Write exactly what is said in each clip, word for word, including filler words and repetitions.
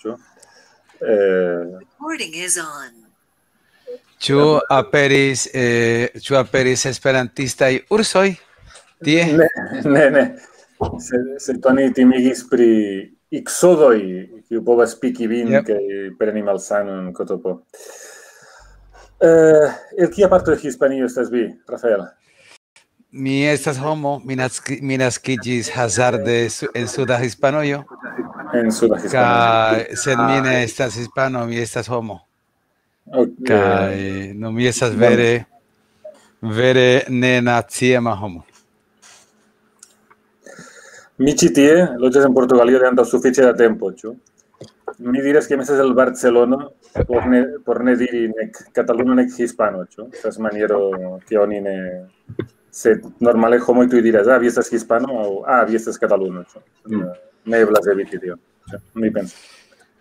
ĉu? Eh, Recording is on. Ĉu aperis, eh, ĉu aperis esperantistaj ursoj? Tie? Ne, ne, ne. Se, se oni timigis pri iksodoj, kiu povas piki vin Yep. kaj preni malsanon, kotopo. Eh, el kia parto de Hispanio estas vi, Rafael? Mi estas homo, mi, naski, mi naskiĝis hazarde su, en suda Hispanujo, En suda Hispanio. Kaj, sed mi ne estas hispano, mi estas homo. Ok. Kaj no, mi estas vere, vere ne naciema homo. Mi ĉi tie loĝas en Portugalio de antaŭ sufiĉe da tempo, ĉu? Mi diras, ke mi estas el Barcelono, por ne, por ne diri nek kataluno, nek hispano, ĉu? Estas maniero, ke oni ne... Se normale homoj tuj diras, ah, vi estas hispano, aŭ, ah, vi estas kataluno, ĉu? Mm. Ne eblas eviti tio, ĉu? Mi pensas.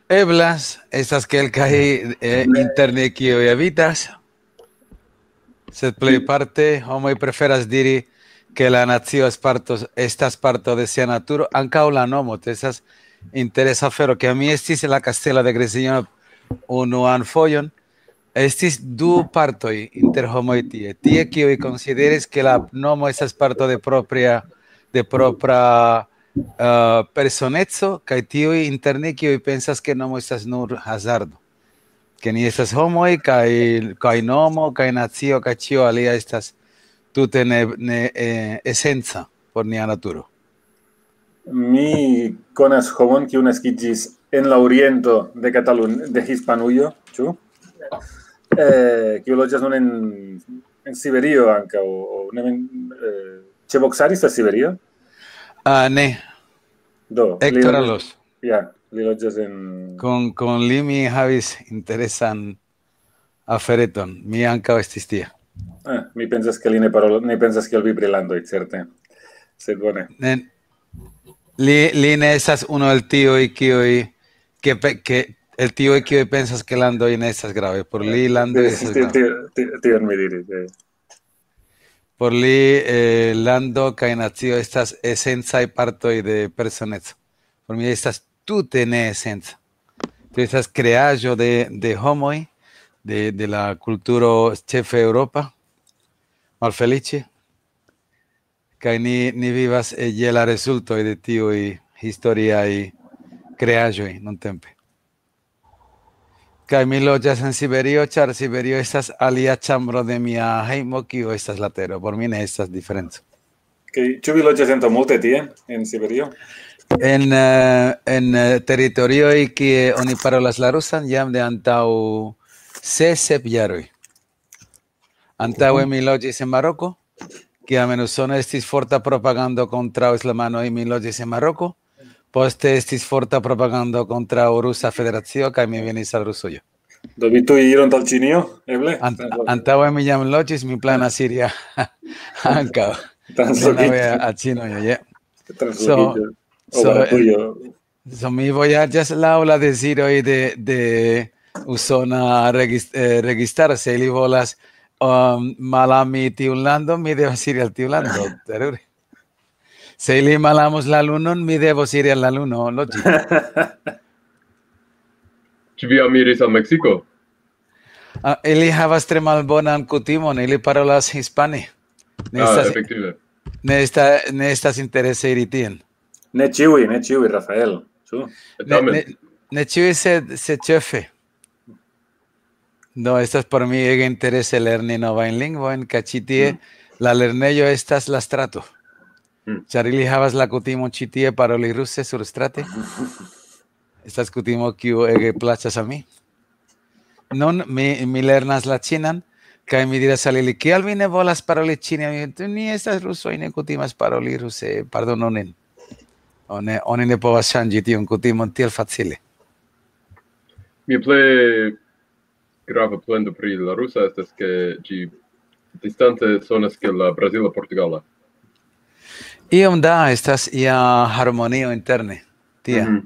Eblas, estas kelkaj, eh, interne kiuj evitas, sed plejparte homoj preferas diri, ke la nacio es parto, estas parto de sia naturo, ankaŭ la nomo, to estas interesa afero, ke mi estis en la kastelo de Grecio unuan fojon, estis du partoj inter homoj tie. Tie, kiuj konsideris, ke la nomo estas parto de propria, de propra, eh, personeco, kaj tiuj inter ni, kiuj pensas, ke nomo estas nur hazardo. Ke ni estas homoj, kaj, kaj nomo, kaj nacio, kaj ĉio alia estas tute ne, ne, eh, esenca por nia naturo. Mi konas homon, kiu naskiĝis en la oriento de Katalun-, de Hispanujo, ĉu? Eh, kiu loĝas nun en, en Siberio ankaŭ, o ne vin, eh, ĉe Boksari estas Siberio? Ah, ne, Do, li Héctor loĝas, Alos. Ja, li loĝas en... Kun, kun li mi havis interesan afereton. Mi ankaŭ estis tie. Ah, mi pensas, ke li ne parolas, ne pensas kiel vi pri landoj, certe. Sed bone. Ne, li, li ne estas unu el tiuj, kiuj, ke, pe- ke, el tiuj, kiuj pensas, ke landoj ne estas grave. Por li, landoj estas Ti-, grave. ti-, ti-, tion mi diris, eh. Por li, eh, lando kaj nacio estas esencaj partoj de personeco. Por mi estas tute ne esenca. Tio estas kreaĵo de, de homoj, de, de la kulturo ĉefe eŭropa, malfeliĉe. Kaj ni, ni vivas, eh, je la rezultoj de tiuj historiaj kreaĵoj nuntempe. Kaj mi loĝas en Siberio, ĉar Siberio estas alia ĉambro de mia hejmo, kiu estas la tero. Por mi ne estas diferenco. Kaj ĉu vi loĝas antaŭ multe tie, en Siberio? En, eh, en, eh, teritorioj, kie oni parolas la rusan, jam de antaŭ ses, sep jaroj. Antaŭe mi loĝis en Maroko, kiam en Usono estis forta propagando kontraŭ islamanoj, mi loĝis en Maroko. Poste estis forta propagando kontraŭ Rusa Federacio, kaj mi venis al Rusujo. Do vi tuj iron al Ĉinio, eble? Ant-, antaŭe mi jam loĝis, mi planas iri a-, ankaŭ. Translokiĝi. Denove a Ĉinujo, je. Translokiĝi. So, so, Varantujo. So, mi vojaĝas laŭ la deziroj de, de usona regis-, eh, registaro. Se ili volas, um, malami tiun landon, mi devas iri al tiu lando. Terure. Se ili malamus la lunon, mi devos iri al la luno loĝi. Ĉu vi jam iris al Meksiko? Ah, ili havas tre malbonan kutimon, ili parolas hispane. Ne Ah, estas, efektive. ne esta-, ne estas interese iri tien. Ne ĉiuj, ne ĉiuj, Rafael. Ĉu? Ne, Tamen, ne, ne ĉiuj, sed, sed ĉefe. Do estas por mi ege interese lerni novajn lingvojn, kaj ĉi tie la lernejo estas la strato. Mm. Ĉar ili havas la kutimon ĉi tie paroli ruse surstrate. Estas kutimo, kiu ege plaĉas al mi. Nun mi, mi lernas la ĉinan, kaj mi diras al ili, "Kial vi ne volas paroli ĉine?" Mi, "Ni estas rusoj, ne kutimas paroli ruse, pardonu nin." Oni, oni ne povas ŝanĝi tiun kutimon tiel facile. Mia plej grava plendo pri la rusa estas, ke ĝi distante sonas kiel la brazila portugala. Iom da estas ia harmonio interne. Tie. Mhm.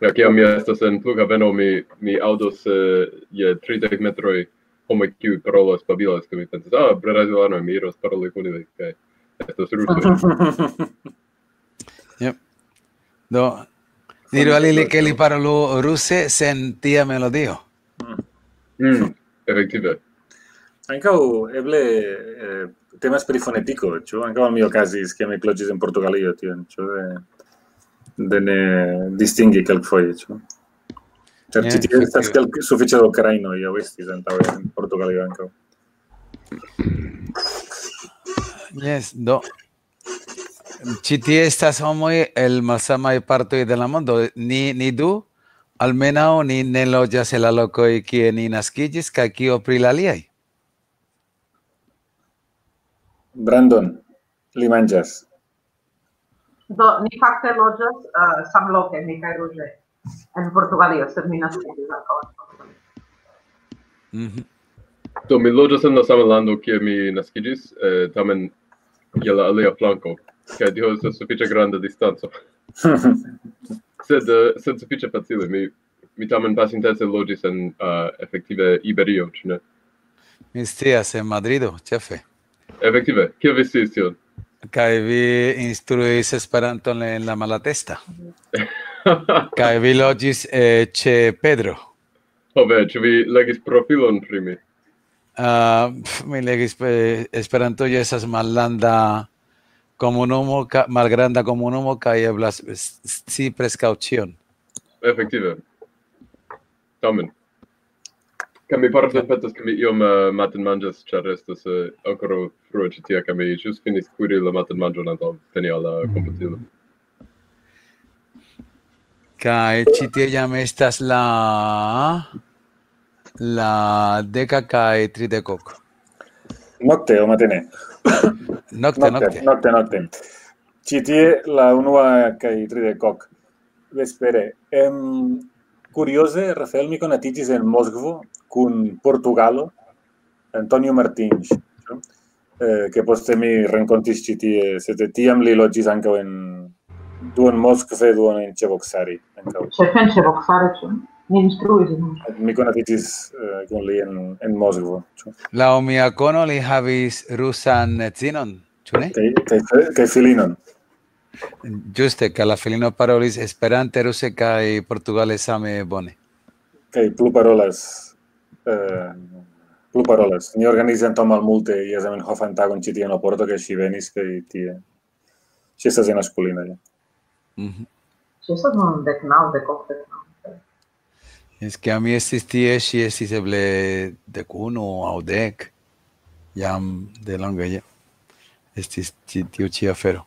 Ja, kiam mi estas en flughaveno, mi, mi aŭdos, eh, je tridek metroj homoj, kiuj parolas, babilas, kaj mi pensas, "Ah, brazilanoj, mi iros paroli kun ili, kaj estas rusoj." Yep. Do, Diru al ili, ke li parolu ruse sen tia melodio. Mm, efektive. Ankaŭ eble eh, temas pri fonetiko, ĉu? Ankaŭ al mi okazis, ke mi ekloĝis en Portugalio tion, ĉu? De, de ne distingi kelkfoje, ĉu? Ĉar Ne, ĉi tie estas efektive. Kelk, sufiĉe da ukrainoj, aŭ estis antaŭe en Portugalio ankaŭ. Jes, do. Ĉi tie estas homoj el malsamaj partoj de la mondo. Ni, ni du, almenaŭ ni ne loĝas en la lokoj, kie ni naskiĝis, kaj kio pri la aliaj? Brandon, li manĝas. Do, ni fakte loĝas uh, samloke, mi kaj Ruže, en Portugalio, sed mi naskiĝis ankaŭ en Portugalio. Mhm. Do, mi loĝas en la sama lando, kie mi naskiĝis, eh, tamen je la alia flanko. Kaj tio estas sufiĉe granda distanco. Sed, eh, sed sufiĉe facile. Mi, mi tamen pasintece loĝis en eh, efektive Iberio, ĉu ne? Mi scias, en Madrido, ĉefe. Efektive, kiel vi sciis tion? Kaj vi instruis Esperanton en la Malatesta. Kaj vi loĝis eh, ĉe Pedro. Ho ve, ĉu vi legis profilon pri mi? Uh, mi legis, eh, Esperanto ja estas mallanda komunumo, ka, malgranda komunumo, kaj eblas s- scii preskaŭ ĉion. Efektive. Tamen. Kaj mi pardonpetas, ke mi iom uh, matenmanĝas, ĉar estas uh, ankoraŭ frue ĉi tie, kaj mi ĵus finis kuiri la matenmanĝon antaŭ teni al la komputilo. Kaj ĉi tie jam estas la la deka kaj tridekok. Nokte aŭ matene? Nokte, nokte. Nokte, nokte. Ĉi tie la unua kaj tridekok vespere. Em, kurioze, Rafael, mi konatiĝis en Moskvo kun Portugalo, Antonio Martins, eh, ke poste mi renkontis ĉi tie, sed tiam li loĝis ankaŭ en duon Moskve, duon en Ĉeboksari ankaŭ. Ĉefe en Ĉeboksari, ĉu? Mi instruis ilin. Mi konatiĝis eh, kun li en, en Moskvo. Ĉu? Laŭ mia kono li havis rusan edzinon, ĉu ne? Kaj, kaj, kaj filinon. Ĝuste, ke la filino parolis Esperante, ruse kaj portugale same bone. Kaj plu parolas. Eh, plu parolas. Ni organizis antaŭ malmulte Zamenhof-an tagon ĉi tie en Oporto, kaj ŝi venis, kaj tie. Ŝi estas en Askulina. Ja. Mhm. Ŝi estas nun dek naŭ, dek ok, dek naŭ. Es que a mi estis tie, ŝi estis eble dek unu aŭ dek, jam de longe ja. Estis ti- tiu ĉi afero.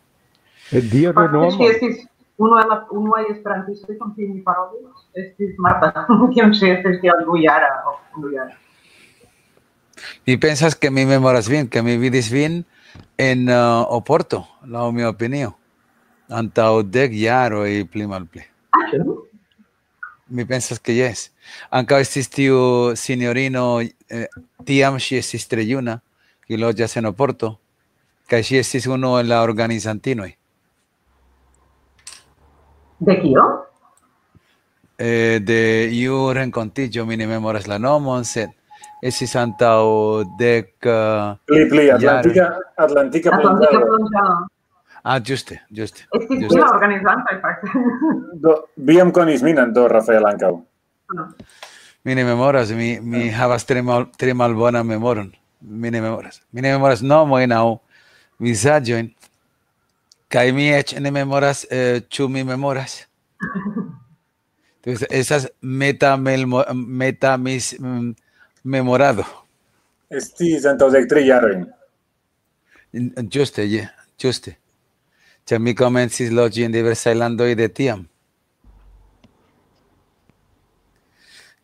E Dio Fakte, ŝi renomo. Estis unu el la unuaj esperantistoj, kun kiuj mi parolis, estis Marta, kiam ŝi estis tiel dujara, ok, dujara. Mi pensas, ke mi memoras vin, ke mi vidis vin en uh, Oporto, laŭ mia opinio, antaŭ dek jaroj pli malpli. Mi pensas, ke jes. Ankaŭ estis tiu sinjorino, eh, tiam ŝi estis tre juna, kiu loĝas en Oporto, kaj ŝi estis unu el la organizantinoj. De kio? Eh, de iu renkontiĝo, mi ne memoras la nomon, sed estis antaŭ dek uh, Pli, pli, jaroj. Atlantika, Atlantika Atlantika Plendado. Plendado. Ah, ĝuste, ĝuste. Estis ĝuste. La organizantoj, fakte. Do, vi jam konis min, do Rafael ankaŭ. Mi ne memoras, mi, mi havas tre, mal, tre malbonan memoron. Mi ne memoras. Mi ne memoras nomojn aŭ vizaĝojn. Kaj mi eĉ ne memoras, eh, ĉu mi memoras. Entonces, estas meta, melmo- meta mis mm, memorado. Estis antaŭ dek tri jarojn. Ĝuste, je, ĝuste. Ĉar mi komencis loĝi en diversaj landoj de tiam.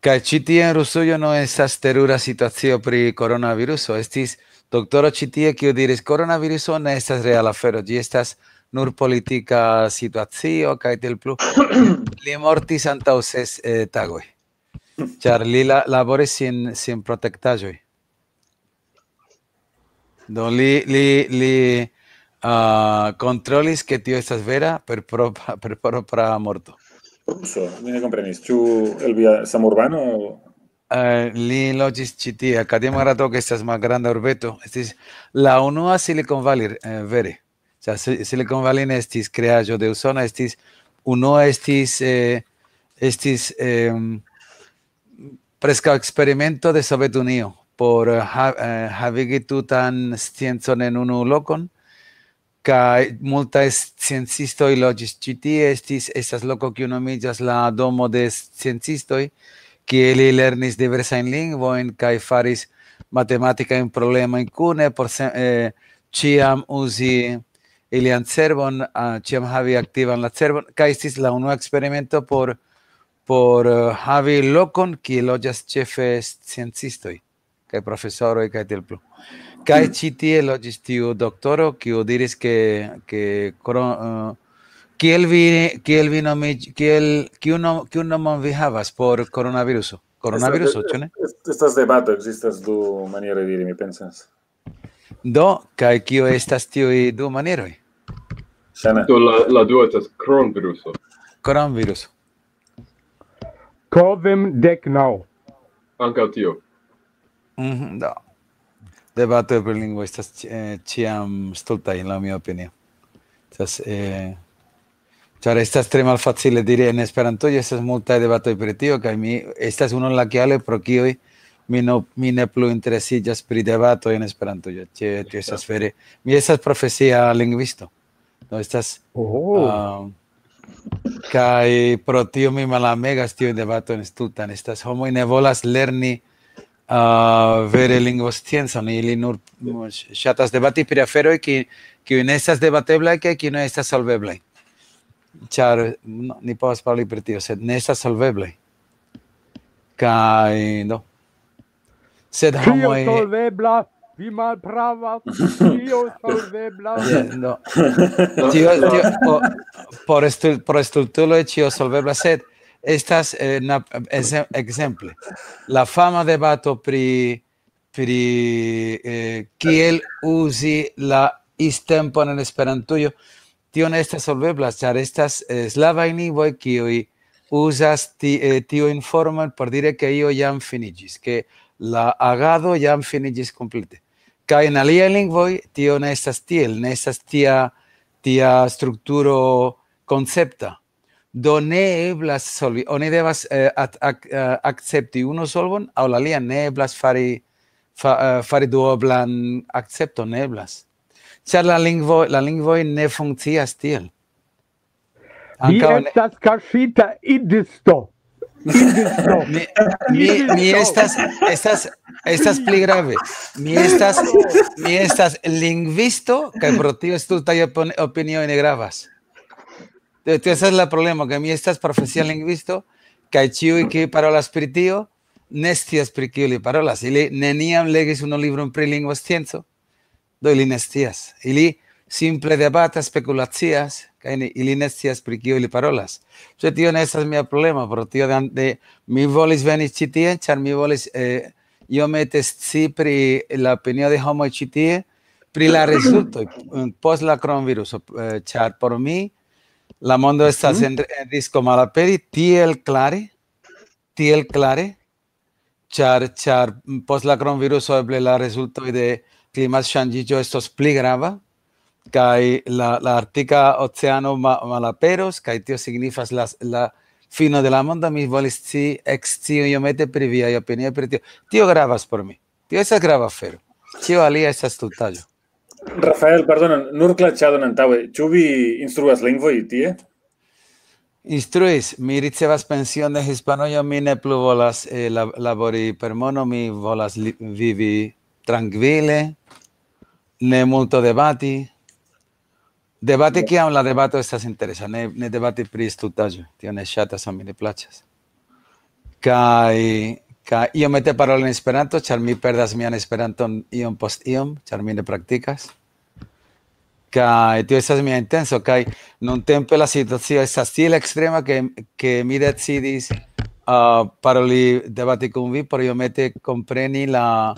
Kaj ĉi tie en Rusujo no estas terura situacio pri koronaviruso. Estis doktoro ĉi tie, kiu diris: "Koronaviruso ne estas reala afero, ĝi estas nur politika situacio", kaj tiel plu. Li mortis antaŭ ses eh, tagoj, ĉar li la, laboris sin, sin protektaĵoj. Do li, li, li uh, kontrolis, ke tio estas vera per propra, per propra morto. Ruso, mi ne komprenis. Ĉu el via samurbano? Uh, li loĝis ĉi tie. Akademia Rato, ke estas malgranda urbeto, estis la unua Silicon Valley, eh, vere. Ĉar Si- Silicon Valley ne estis kreaĵo de Usono, estis Unua estis, eh, estis, em, preskaŭ eksperimento de Sovetunio por, eh, ha-, eh, havigi tutan sciencon en unu lokon, kaj multaj sciencistoj loĝis ĉi tie. Estis, estas loko, kiu nomiĝas la Domo de Sciencistoj, kie ili lernis diversajn lingvojn kaj faris matematikajn problemojn kune por se-, eh, ĉiam uzi ilian cerbon, ah, ĉiam havi aktivan la cerbon, kaj estis la unua eksperimento por, por, eh, havi lokon, kie loĝas ĉefe sciencistoj, kaj profesoroj, kaj tiel plu. Kaj ĉi tie loĝis tiu doktoro, kiu diris, ke, ke koro-, eh, kiel vi, kiel vi nomiĝ-, kiel, kiu nom-, kiu nomon vi havas por koronaviruso? Koronaviruso, ĉu ne? Est-, estas debato, ekzistas du manieroj diri, mi pensas. Do, kaj kio estas tiuj du manieroj? Ŝajne. Do, la, la dua estas kronviruso. Kronviruso. Kovim dek naŭ. Ankaŭ tio. Mhm, do. Debatoj pri lingvo estas ĉi-, eh, ĉiam stultaj, laŭ mia opinio. Estas, eh, ĉar estas tre malfacile diri en Esperantujo, estas multaj debatoj pri tio, kaj mi, estas unu el la kialoj pro kiuj mi no, mi ne plu interesiĝas pri debatoj en Esperantujo. Ĉe, tio estas vere, mi estas profesia lingvisto. Do estas, Oh. ah, kaj pro tio mi malamegas tiujn debatojn stultan. Estas homoj ne volas lerni, ah, vere lingvosciencon, ili nur, mm, ŝatas debati pri aferoj, ki-, kiuj ne estas debateblaj, kaj kiuj ne estas solveblaj. Ĉar, no, ni povas paroli pri tio, sed ne estas solveblaj. Kaj, do. Sed Ĉio homoj solvebla, vi malpravas, ĉio solvebla. Je, no. Tio, tio, po-, por estul-, por estultuloj ĉio solvebla, sed estas, eh, na-, exe-, ekzemple, la fama debato pri, pri, eh, kiel uzi la istempon en Esperantujo, tio ne estas solvebla, ĉar estas, eh, slavaj lingvoj, kiuj uzas ti-, eh, tiujn formojn por diri, ke io jam finiĝis, ke la agado jam finiĝis komplete. Kaj en aliaj lingvoj tio ne estas tiel, ne estas tia, tia strukturo koncepta. Do ne eblas solvi, oni devas, eh, at-, ak-, eh, akcepti unu solvon aŭ la alian, ne eblas fari, fa-, eh, fari duoblan akcepton, ne eblas. Ĉar la lingvo, la lingvoj ne funkcias tiel. Vi Ankaŭ ne estas kaŝita idisto. Idisto. Mi, mi, mi estas, estas, estas pli grave. Mi estas, mi estas lingvisto, kaj pro tio stultaj opin-, opinioj ne gravas. Tio, tio estas la problemo, ke mi estas profesia lingvisto, kaj ĉiuj, kiuj parolas pri tio, ne scias, pri kio li parolas. Ili neniam legis unu libron pri lingvoscienco, do ili ne scias. Ili simple debatas, spekulacias, kaj ne, ili ne scias, pri kio ili parolas. Ĉe tio ne estas mia problemo, pro tio de, de, mi volis veni ĉi tie, ĉar mi volis, eh, iomete scii pri la opinio de homoj ĉi tie, pri la rezultoj, eh, post la kronviruso, eh, ĉar por mi la mondo estas Mhm. en, en risko malaperi tiel klare, tiel klare, ĉar, ĉar post la kronviruso eble la rezultoj de klimatŝanĝiĝo estos pli grava, kaj la, la Arktika Oceano ma-, malaperos, kaj tio signifas la, la fino de la mondo. Mi volis scii, ekscii iomete pri viaj opinioj pri tio. Tio gravas por mi. Tio estas grava afero. Ĉio alia estas stultaĵo. Rafael, pardonu, nur klaĉadon antaŭe. Ĉu vi instruas lingvoj tie? Instruis, mi ricevas pension de Hispanujo, mi ne plu volas, eh, lab-, labori per mono, mi volas li-, vivi trankvile, ne multo debati. Debati, Ja. kiam la debato estas interesa, ne, ne debati pri stultaĵo, tio ne ŝatas aŭ mi ne plaĉas. Kaj, kaj iomete paroli en Esperanto, ĉar mi perdas mian Esperanton iom post iom, ĉar mi ne praktikas. Kaj tio estas mia intenso, kaj nuntempe la situacio estas tiel ekstrema, ke, ke mi decidis, ah, paroli, debati kun vi por iomete kompreni la,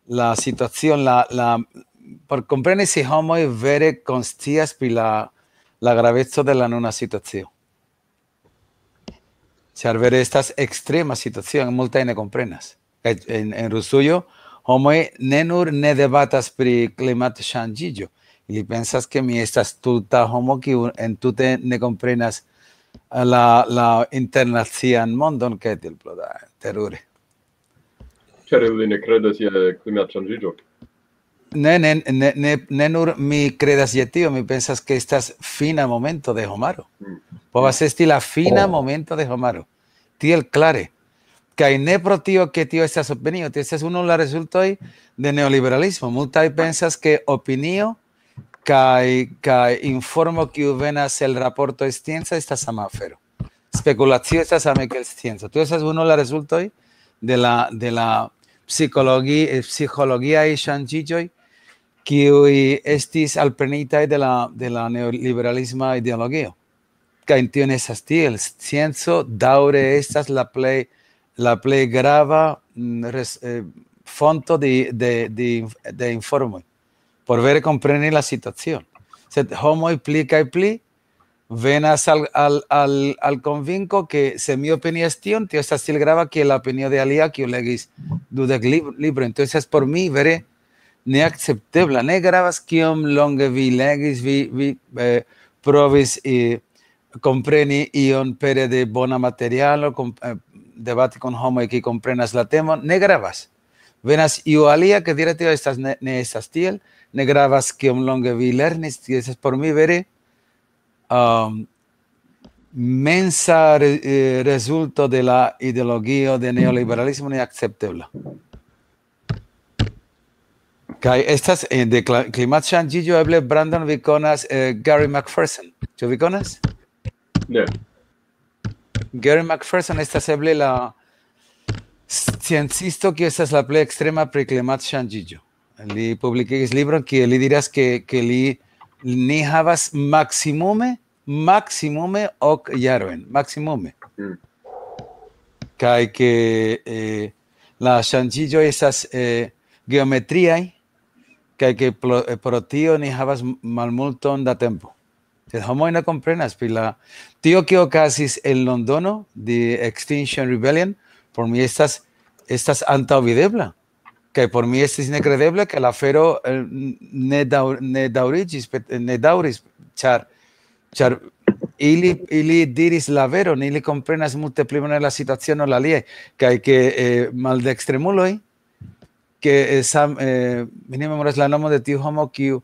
la situacion, la, la, por kompreni se homoj vere konscias pri la, la graveco de la nuna situacio. Ĉar vere estas ekstrema situacio, multaj ne komprenas. Kaj en, en Rusujo homoj ne nur ne debatas pri klimatŝanĝiĝo, ili pensas, ke mi estas stulta homo, kiu entute ne komprenas la, la internacian mondon, kaj tiel plu da, terure. Ĉar ili ne kredas je klimatŝanĝiĝo. Ne, ne, ne, ne, ne nur mi kredas je tio, mi pensas, ke estas fina momento de homaro. Povas esti la fina momento de homaro. Tiel klare. Kaj ne pro tio, ke tio estas opinio, tio estas unu el la rezultoj de neoliberalismo. Multaj pensas, ke opinio kaj, kaj informo, kiu venas el raportoj scienca, estas sama afero. Spekulacio estas same kiel scienco. Tio estas unu el la rezultoj de la, de la psikologi-, eh, psikologiaj ŝanĝiĝoj, kiuj estis alprenitaj de la, de la neoliberalisma ideologio. Kaj tio ne estas tiel. Scienco daŭre estas la plej, la plej grava, mm, res-, eh, fonto de, de, de, de informoj por vere kompreni la situacion. Sed homoj pli kaj pli venas al, al, al, al konvinko, ke se mi opinias tion, tio estas tiel grava kiel la opinio de alia, kiu legis dudek lib-, librojn. Entonces, por mi vere neakceptebla. Ne gravas kiom longe vi legis, vi, vi, eh, provis, eh, kompreni ion pere de bona materialo, kom-, eh, debati kun homoj, kiuj komprenas la temon, ne gravas. Venas iu alia, ke diri, tio estas ne, ne estas tiel, ne gravas kiom longe vi lernis, tio estas por mi vere, um, mensa re-, eh, rezulto de la ideologio de neoliberalismo neakceptebla. Kaj estas, eh, de kla-, klimatŝanĝiĝo, eble, Brandon, vi konas, eh, Gary McPherson. Ĉu vi konas? Ne. Gary McPherson estas eble la sciencisto, kiu estas la plej ekstrema pri klimatŝanĝiĝo. Li publikigis libron, kie li diras, ke, ke li, ni havas maksimume, maksimume ok jarojn, maksimume. Mm. Kaj ke, eh, la ŝanĝiĝoj estas, eh, geometriaj, kaj ke pro, eh, pro tio ni havas m-, malmulton da tempo. Sed homoj ne komprenas pri la, tio, kio okazis en Londono, The Extinction Rebellion, por mi estas, estas antaŭvidebla. Kaj por mi estis nekredebla, ke la afero, eh, ne daŭ-, ne daŭriĝis, pet-, ne daŭris, ĉar, ĉar ili, ili diris la veron, ili komprenas multe pli bone la situacion ol aliaj, kaj ke, eh, maldekstremuloj, ke, eh, sam-, eh, mi ne memoras la nomo de tiu homo, kiu,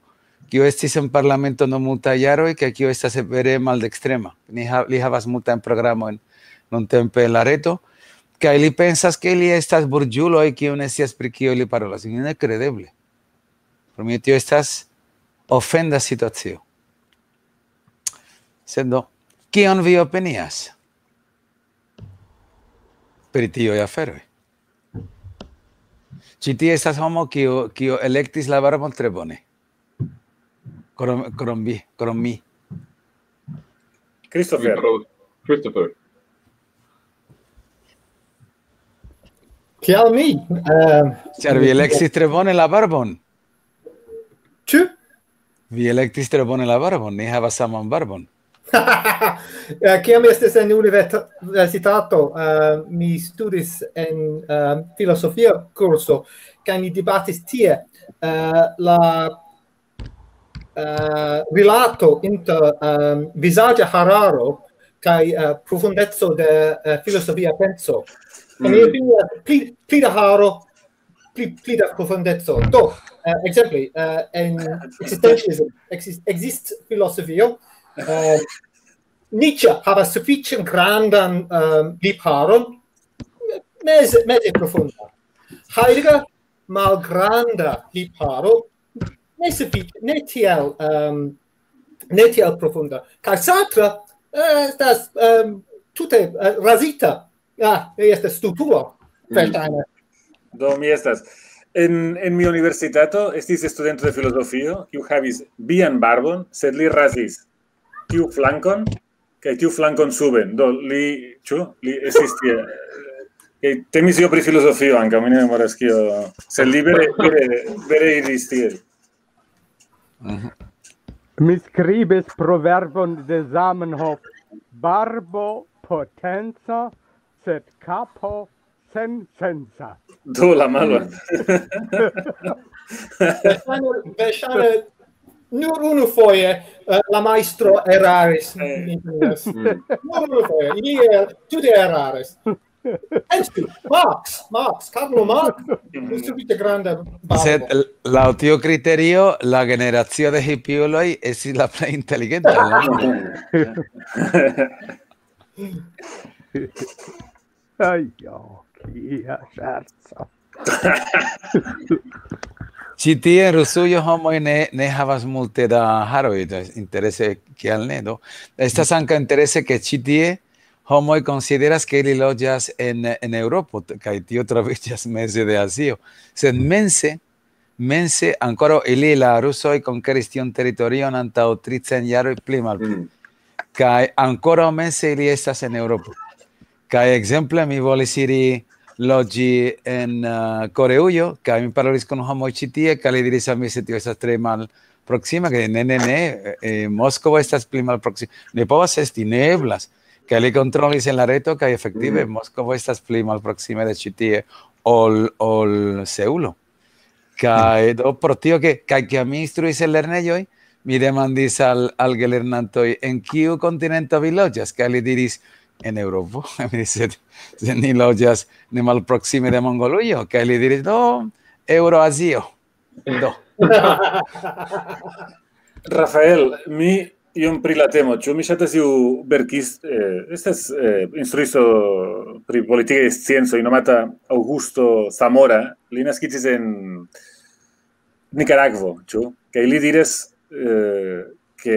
kiu estis en parlamento dum multaj jaroj, kaj kiu estas vere maldekstrema. Ni ha-, li havas multajn programojn nuntempe en la reto, kaj li pensas, ke ili estas burĝuloj, kiu ne scias, pri kio ili parolas. Nekredeble. Por mi tio estas ofenda situacio. Sed do, kion vi opinias pri tiuj aferoj? Ĉi tie estas homo, kiu, kiu elektis la barbon tre bone. Krom, krom vi, krom mi. Christopher. Christopher. Kial mi? Eh, Ĉar vi elektis tre bone la barbon. Ĉu? Vi elektis tre bone la barbon, ni havas saman barbon. Eh, kiam mi estis en universitato, eh, mi studis en, eh, filozofia kurso, kaj ni debatis tie, eh, la, eh, rilato inter, eh, vizaĝa hararo kaj, eh, profundeco de, eh, filozofia penso. Kaj mi opinias pli, pli da haro, pli, pli da profundeco. Do, eh, ekzemple, eh, en existentialism, exist, exist filozofio, eh, Nietzsche havas sufiĉe grandan, eh, lipharon, meze, meze profunda. Heidegger, malgranda lipharo, ne sufiĉe, ne tiel, ehm, ne tiel profunda. Kaj Sartre, eh, estas, ehm, tute, eh, razita. Ah, li estas stultulo, verŝajne. Do, mi estas. En, en mi universitato estis studento de filozofio, kiu havis vian barbon, sed li razis tiu flankon, kaj tiu flankon suben. Do, li, ĉu? Li estis tie. Kaj temis io pri filozofio ankaŭ, mi ne memoras kio. Sed li vere, vere, vere iris tiel. Mi skribis proverbon de Zamenhof: "Barbo potenca, sed kapo sensensa." Do, la malo. Verŝajne, verŝajne Nur unu foje, eh, la majstro eraris. Eh. Yes. Nur unu foje. Ili, eh, tute eraris. Pensu, Marx, Marx, Karlo Marx, un sufiĉe granda babo. Sed l- laŭ tiu kriterio, la generacio de hipiuloj estis la plej inteligenta. Ai, jo, kia ŝerco. Ĉi tie en Rusujo homoj ne, ne havas multe da haroj, do interese kial ne, do. Estas ankaŭ interese, ke ĉi tie homoj konsideras, ke ili loĝas en, en Eŭropo, t- kaj tio troviĝas meze de Azio. Sed mense, mense ankoraŭ ili, la rusoj, konkeris tiun teritorion antaŭ tricent jaroj pli malpli. Mm. Kaj ankoraŭ mense ili estas en Eŭropo. Kaj ekzemple mi volis iri loĝi en uh, Koreujo, kaj mi parolis kun homoj ĉi tie, kaj li diris al mi, se tio estas tre malproksima, ke ne, ne, ne, eh, Moskvo estas pli malproksima. Ne povas esti, ne eblas. Kaj li kontrolis en la reto, kaj efektive Mm. Moskvo estas pli malproksime de ĉi tie ol, ol Seulo. Kaj do pro tio, ke, kaj kiam mi instruis en lernejoj, mi demandis al, al gelernantoj, en kiu kontinento vi loĝas, kaj li diris, en Eŭropo. Mi diris, sed, sed ni loĝas ne malproksime de Mongolujo, kaj li diris, do, Eŭroazio. Do. Rafael, mi iom pri la temo. Ĉu mi ŝatas iu verkis, eh, estas eh, instruisto pri politikaj sciencoj nomata Augusto Zamora. Li naskiĝis en Nicaragvo, ĉu? Kaj li diras, eh, ke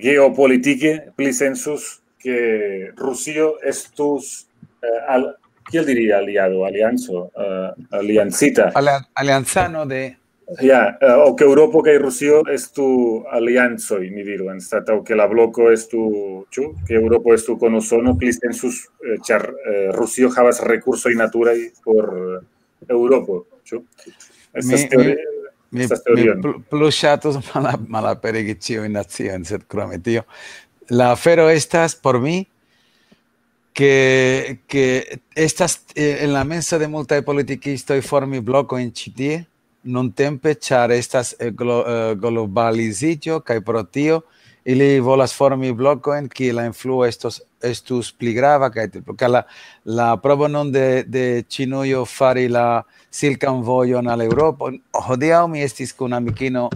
geopolitike pli sensus ke Rusio estus, eh, al, kiel diri aliado, alianco, eh, aliancita. Alian- Aliancano de... Ja, eh, o ke Eŭropo kaj Rusio estu aliancoj, ni diru, anstataŭ ke la bloko estu, ĉu? Ke Eŭropo estu kun Usono pli sensus, eh, ĉar eh, Rusio havas rekursoj naturaj por eh, Eŭropo, ĉu? Estas Mi- teori- Mi, estas mi teorion. pl- plu ŝatus mala- malaperigi ĉiujn naciojn, sed krome tio. La afero estas por mi, ke, ke estas eh, en la menso de multaj politikistoj formi blokojn ĉi tie, nuntempe, ĉar estas eh, glo- eh, globaliziĝo, kaj pro tio ili volas formi blokojn, kie la influo estos, estus pli grava, kaj tiel plu. Kaj la, la provo nun de, de Ĉinujo fari la silkan vojon al Eŭropo. Hodiaŭ mi estis kun amikino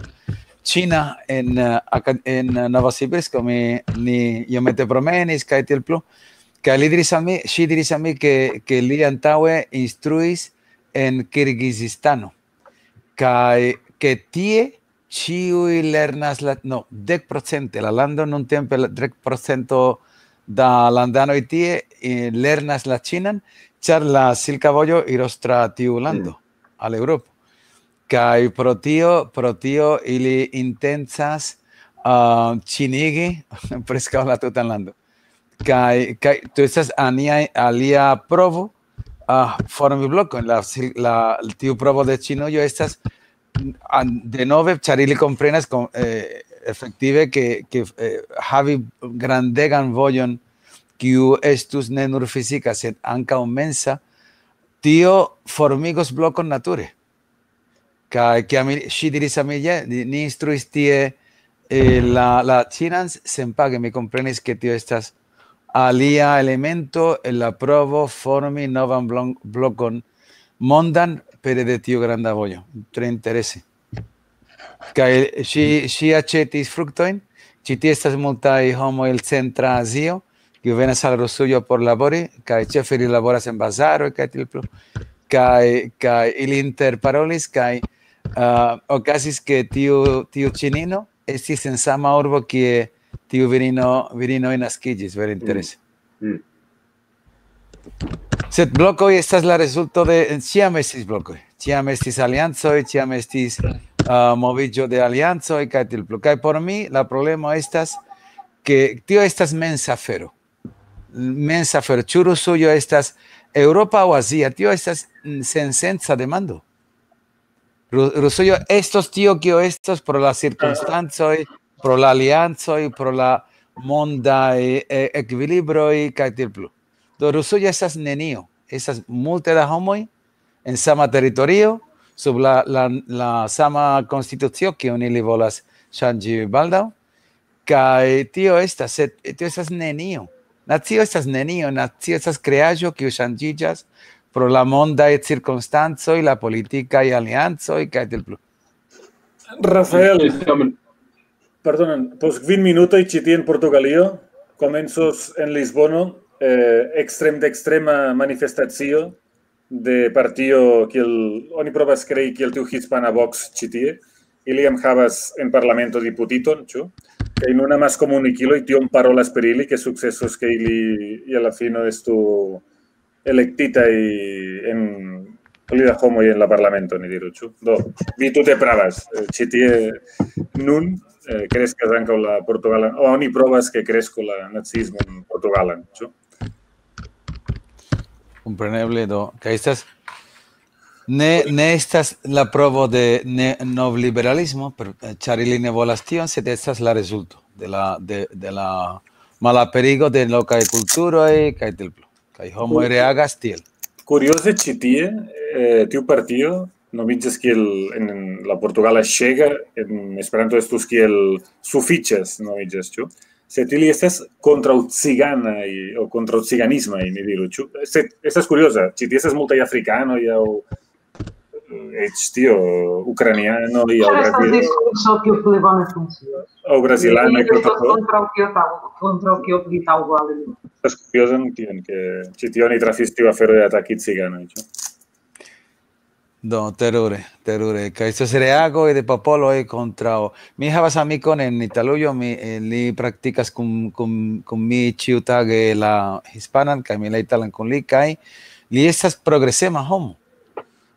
ĉina en, eh, Aka- en Novosibirsko, mi, ni iomete promenis, kaj tiel plu. Kaj li diris al mi, ŝi diris al mi, ke, ke li antaŭe instruis en Kirgizistano. Kaj ke tie ĉiuj lernas la, no, dek procente, la lando nuntempe la dek procento da landanoj tie eh, lernas la ĉinan, ĉar la silka vojo iros tra tiu lando, al Eŭropo. Kaj pro tio, pro tio ili intencas uh, ĉinigi preskaŭ la tutan lando. Kaj, kaj tu estas ania, alia provo uh, formi blokon. La, sil- la, tiu provo de Ĉinujo estas an- denove, ĉar ili komprenas, kom- eh, efektive, ke, ke eh, havi grandegan vojon, kiu estus ne nur fizika, sed ankaŭ mensa, tio formigos blokon nature. Kaj kiam ili- ŝi diris al mi, "Je, ni ni instruis tie eh, la, la ĉinan senpage", mi komprenis, ke tio estas alia elemento en la provo formi novan blon- blokon mondan pere de tiu granda vojo. Tre interese. Kaj ŝi, ŝi aĉetis fruktojn. Ĉi tie estas multaj homoj el Centra Azio, kiu venas al Rusujo por labori, kaj ĉefe ili laboras en bazaroj kaj tiel plu. Kaj, kaj ili interparolis, kaj uh, okazis, ke tiu, tiu ĉinino estis en sama urbo, kie tiu virino, virinoj naskiĝis, vere interese. Mm. Sed blokoj estas la rezulto de, ĉiam estis blokoj, ĉiam estis aliancoj, ĉiam estis uh, moviĝo de aliancoj, kaj tiel plu. Kaj por mi la problemo estas, ke tio estas mensa afero. Mensa afero. Ĉu Rusujo estas Eŭropa aŭ Azia? Tio estas mm, sensenca demando. Ru- Rusujo estos tio, kio estos pro la cirkonstancoj, pro la aliancoj, pro la mondaj eh, ekvilibroj, kaj tiel plu. Do Rusujo estas nenio. Estas multe da homoj en sama teritorio, sub la, la, la sama konstitucio, kiun ili volas ŝanĝi baldaŭ, kaj tio estas, sed tio estas nenio. Nacio estas nenio, nacio estas kreaĵo, kiu ŝanĝiĝas pro la mondaj cirkonstancoj, la politikaj aliancoj, kaj tiel plu. Rafael, Tamen, perdonen, post kvin minutoj ĉi tie en Portugalio komencos en Lisbono eh, ekstrem-dekstrema manifestacio de partio, kiel oni provas krei kiel tiu hispana Vox ĉi tie. Ili jam havas en parlamento diputiton, ĉu? Kaj nun amaskomunikiloj tiom parolas pri ili, ke sukcesos, ke ili je la fino estu elektitaj en pli da homoj en la parlamento, ni diru, ĉu? Do, vi tute pravas. Eh, Ĉi tie nun eh, kreskas ankaŭ la portugalan, o oni provas, ke kresko la naciismon portugalan, ĉu? Kompreneble, do, kaj estas, ne, ne estas la provo de ne, novliberalismo, per, ĉar ili ne volas tion, sed estas la rezulto de la, de, de la malaperigo de lokaj kulturoj, kaj tiel plu. Kaj homoj reagas tiel. Kurioze, ĉi tie, eh, tiu partio nomiĝas kiel en la portugala ŝega, en Esperanto estus kiel sufiĉas, nomiĝas, ĉu? Sed ili estas kontraŭ ciganaj, o kontraŭ ciganismaj, ni diru, ĉu? Sed estas kurioza, ĉi tie estas multaj afrikanoj, aŭ eh, eĉ tio, ukrainianoj, aŭ Ĉar estas brazil- diskurso, kiu pli bone funkcias. aŭ brazilanoj, Ili estas kontraŭ kontraŭ kio taŭ-, kontraŭ kio pli taŭgo al ili. Estas kuriozan tion, ke ĉi tie oni trafis tiu afero de ataki ciganoj, ĉu? Do, terure, terure. Kaj estas reagoj de popoloj kontraŭ. Mi havas amikon en Italujo, mi, eh, li praktikas kun, kun, kun mi ĉiutage la hispanan, kaj mi la italan kun li, kaj li estas progresema homo.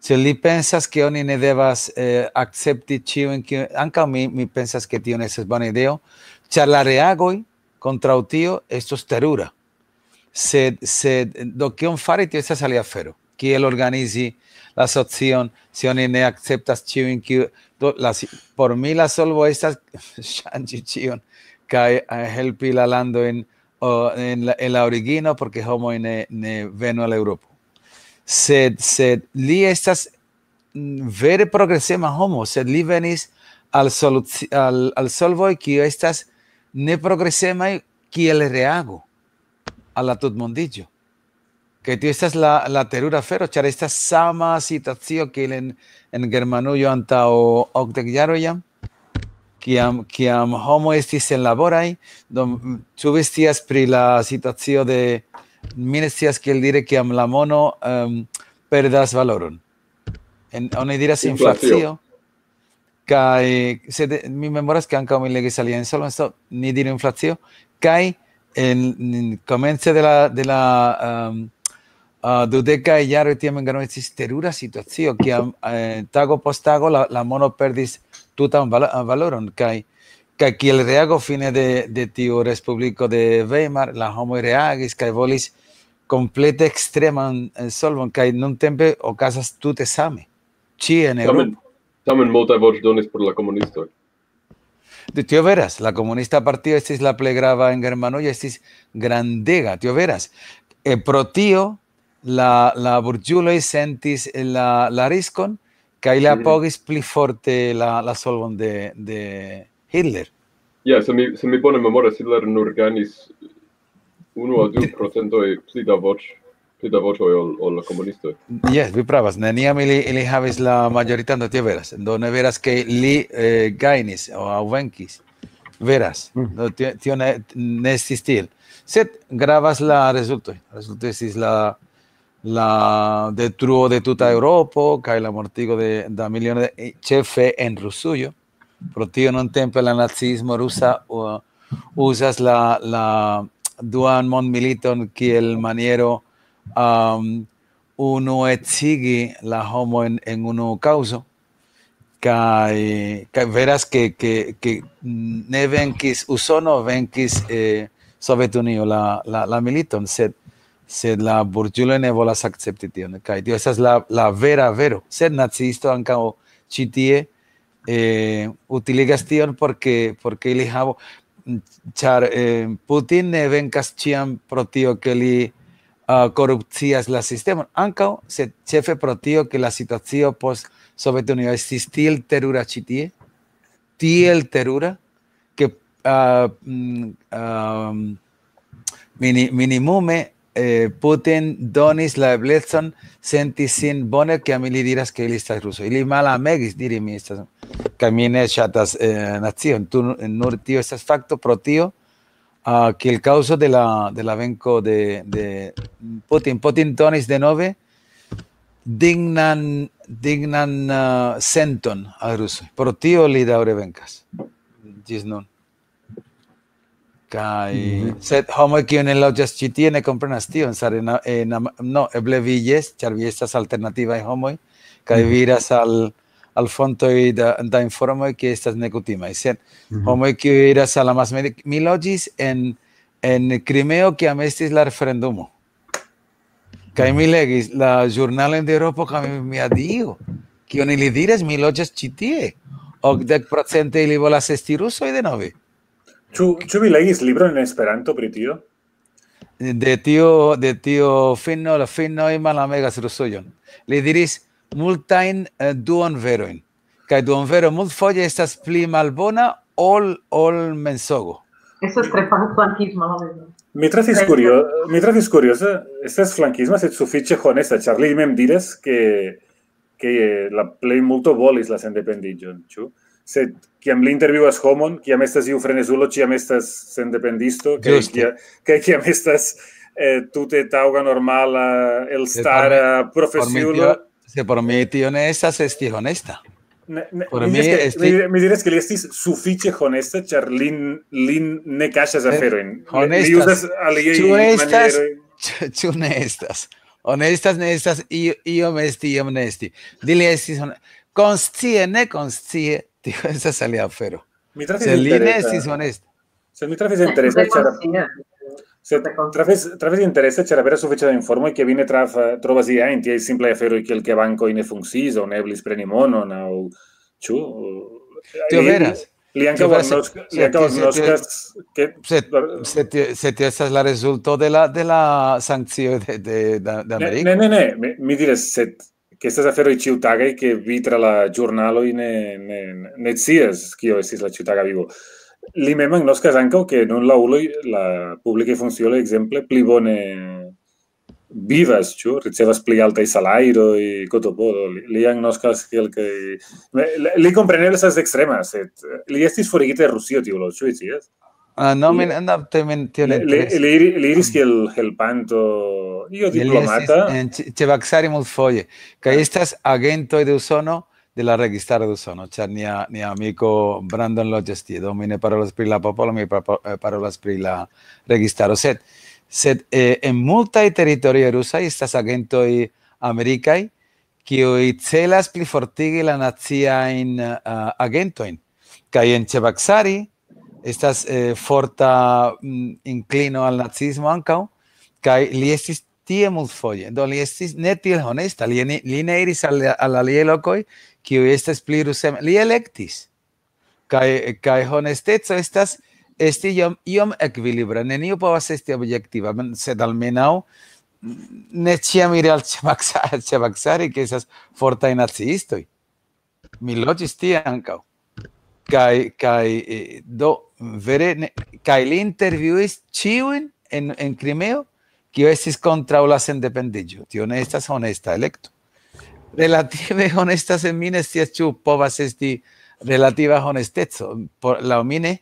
Se li pensas, ke oni ne devas eh, akcepti ĉiujn, kiu, ankaŭ mi, mi pensas, ke tio ne estas bona ideo, ĉar la reagoj kontraŭ tio estos terura. Sed, sed, do, kion fari, tio estas alia afero. Kiel organizi la socion, se oni ne akceptas ĉiujn, kiu, do, la, si- por mi la solvo estas ŝanĝi ĉion, kaj eh, helpi la landojn o, en, la, en la origino, porque homoj ne, ne venu al Eŭropo. Sed, sed li estas mm, vere progresema homo, sed li venis al, soluci- al, al solvoj, kiu estas ne progresemaj kiel reago al la tutmondiĝo. Kaj tio estas la, la terura afero, ĉar estas sama situacio kiel en, en Germanujo antaŭ okdek jaroj jam, kiam, kiam homo estis senlaboraj, do, mm, ĉu vi scias pri la situacio de, mi ne scias kiel dire, kiam la mono um, perdas valoron. En, oni diras Inflacio. Inflacio, kaj sed mi memoras, ke ankaŭ mi legis alian solvon, so, ni diru inflacio, kaj en komence de la, de la um, uh, dudeka jaro tiam en Germanio estis terura situacio, kiam eh, tago post tago la, la mono perdis tutan val- valoron, kaj kaj kiel reago fine de, de tiu respubliko de Weimar, la homoj reagis kaj volis komplete ekstreman eh, solvon, kaj nuntempe okazas tute same. Ĉie en Tamen, Eŭropo. Tamen multaj voĉdonis por la komunistoj. De tio veras, la komunista partio estis la plej grava en Germanujo, estis grandega, tio veras. E pro tio la, la burĝuloj sentis la, la riskon, kaj li Mhm. apogis pli forte la, la solvon de, de Hitler. Ja, se mi, se mi bone memoras, Hitler nur gajnis unu aŭ du procentoj pli da voĉ, pli da voĉoj ol, ol la komunistoj. Jes, vi pravas, neniam ili, ili havis la majoritan, do tio veras. Do ne veras, ke li eh, gajnis o, aŭ venkis. Veras. Mhm. Do tio, tio ne, ne estis tiel. Sed gravas la rezultoj. La rezulto estis la, la detruo de tuta Eŭropo kaj la mortigo de, da milionoj, de, ĉefe en Rusujo. Pro tio nuntempe la naciismo rusa uh, uzas la, la duan mondmiliton kiel maniero um, unuecigi la homojn en unu kaŭzo. Kaj, kaj veras, ke, ke, ke ne venkis Usono, venkis eh, Sovetunio la, la, la militon, sed, sed la burĝuloj ne volas akcepti tion. Kaj tio estas la, la vera vero. Sed naciisto ankaŭ ĉi tie eh, utiligas tion, porque, porque ili havo, mm, ĉar eh, Putin ne venkas ĉiam pro tio, ke li uh, korupcias la sistemon. Ankaŭ, sed ĉefe pro tio, ke la situacio post Sovetunio estis tiel terura ĉi tie, tiel terura, ke, ah, mm, ah, mini-, minimume, eh, Putin donis la eblecon senti sin bone, kiam ili diras, ke ili estas rusoj. Ili malamegis diri, "Mi estas," kaj mi ne ŝatas, eh, nacion. Tu, nur tio estas fakto pro tio, ah, kiel kaŭzo de la, de la venko de, de Putin. Putin donis denove dignan, dignan, ah, senton al rusoj. Pro tio li daŭre venkas. Ĝis nun. Kaj, mhm, sed homoj, kiuj ne loĝas ĉi tie, ne komprenas tion, sare na-, eh, na-, no, eble vi jes, ĉar vi estas alternativaj homoj, kaj, mhm, vi iras al, al fontoj da, da informoj, kiuj estas nekutimaj. Sed, mhm, homoj, kiuj iras al la masmedi-, mi loĝis en, en Krimeo, kiam estis la referendumo. Kaj mi legis la ĵurnalojn de Eŭropo, kaj mi, "Mia Dio, kion ili diras, mi loĝas ĉi tie." Okdek procente ili volas esti rusoj denove. Ĉu, ĉu vi legis libron en Esperanto pri tio? De tio, de tio fino, la finoj malamegas rusujon. Li diris multajn, eh, duonverojn. Kaj duonvero multfoje estas pli malbona ol, ol mensogo. Eso es tre fan-, flankismo, ¿no? Mi trafis Tre kurio-, mi trafis kurioze, estas flankisma, sed sufiĉe honesta, ĉar li mem diras, ke, ke la plejmulto volis la sendependiĝon, ĉu? Sed kiam li intervjuas homon, kiam estas iu frenezulo, ĉiam estas sendependisto, kaj Ĝuste. kia-, kaj kiam estas, eh, tute taŭga, normala, elstara, Sed por mi, por mi profesiulo. tio, sed por mi tio ne estas esti honesta. Ne, ne, Por mi mi diras ke, esti mi, mi diras ke li estis sufiĉe honesta, ĉar lin, lin ne kaŝas Sed aferojn. Li, li honestas. uzas aliaj Ĉu estas? manieroj. Ĉu, ĉu ne estas? Honestas ne estas, io-, iom esti, iom ne esti. Dili estis hon-, konscie, ne konscie, tio estas alia afero. Mi trafis Se li ne interesa. estis honesta. Se mi trafis interesa, Tre ĉar, konscie. se Tre konscie. trafis, trafis interesa, ĉar avera sufiĉa informoj, ke vi ne trafa-, trovas iajn tiaj simplaj aferoj, kiel ke bankoj ne funkciis, aŭ ne eblis preni monon, aŭ, ĉu? Tio Li, veras. li ankaŭ Tio veras, agnosk-, li se ankaŭ tio, se tio, agnoskas, ke se, se tio, se tio estas la rezulto de la, de la sankcioj de, de, de, de Ne, Ameriko. ne, ne, ne. Mi, mi diras, sed ke estas aferoj ĉiutagaj, ke vi tra la ĵurnaloj ne, ne, ne scias, kio estis la ĉiutaga vivo. Li mem agnoskas ankaŭ, ke nun la uloj, la publikaj funkciuloj, ekzemple, pli bone vivas, ĉu? Ricevas pli altaj salajroj, kotopodo. Li, li agnoskas kelkaj, me, li, li kompreneble estas ekstrema, sed li estis forigita de Rusio, tiu lo, ĉu vi scias? Ah, no, Li, min, no, te min, tio ne li, li, interesas. li iri-, li iris kiel helpanto, io Li estis diplomata. en Ĉe-, Ĉebaksari multfoje. Kaj Ah. estas agentoj de Usono, de la registaro de Usono, ĉar nia, nia amiko Brandon loĝas tie. Do mi ne parolas pri la popolo, mi pa-, pa-, eh, parolas pri la registaro. Sed, sed, eh, en multaj teritorioj rusaj estas agentoj amerikaj, kiuj celas plifortigi la naciajn, ah, agentojn. Kaj en Ĉebaksari estas, eh, forta, mm, inklino al naciismo ankaŭ, kaj li estis tie multfoje. Do li estis ne tiel honesta, li ne, li ne iris al, al aliaj lokoj, kiuj estas pli rusem-, li elektis. Kaj, kaj honesteco estas esti iom, iom ekvilibra. Neniu povas esti objektiva, men-, sed almenaŭ, mm, ne ĉiam iri al Ĉebaksa-, Ĉebaksari, ke estas fortaj naciistoj. Mi loĝis tie ankaŭ. Kaj, kaj, eh, do, vere ne, kaj li intervjuis ĉiujn en, en Krimeo, kio estis kontraŭ la sendependiĝo. Tio ne estas honesta elekto. Relative honesta, se mi ne scias, ĉu povas esti relativa honesteco. Por, laŭ mi ne.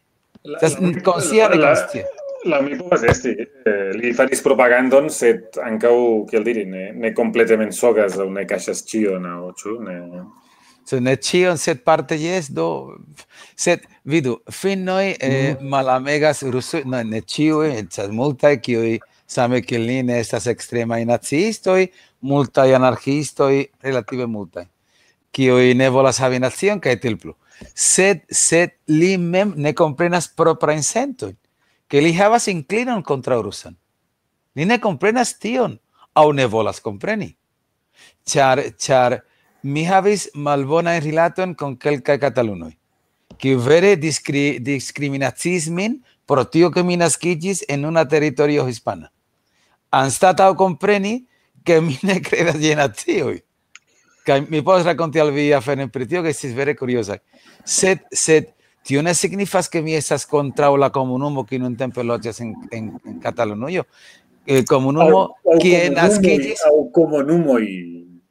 La, Estas la, konscie, la, la, nekonscie. La mi povas esti, eh, li faris propagandon, sed ankaŭ, kiel diri, ne, ne komplete mensogas aŭ ne kaŝas ĉion, aŭ ĉu? Ne. Se ne ĉion, sed parte jes, do, sed vidu, finnoj, eh, Mhm. malamegas rusoj, no, ne ĉiuj, estas multaj, kiuj same kiel ni ne estas ekstremaj naciistoj, multaj anarkiistoj, relative multaj, kiuj ne volas havi nacion, kaj tiel plu. Sed, sed li mem ne komprenas proprajn sentojn, ke li havas inklinon kontraŭ rusan. Li ne komprenas tion, aŭ ne volas kompreni. Ĉar, ĉar mi havis malbonajn rilatojn kun kelkaj katalunoj, kiuj vere diskri-, diskriminaciis min pro tio, ke mi naskiĝis en una teritorio hispana. Anstataŭ kompreni, ke mi ne kredas je nacioj. Kaj mi povas rakonti al vi aferojn pri tio, ke estis vere kuriozaj. Sed, sed Tio ne signifas, ke mi estas kontraŭ la komunumo, kiu nuntempe loĝas en, en, en Katalunujo. Eh, komunumo, kie naskiĝis, aŭ komunumoj.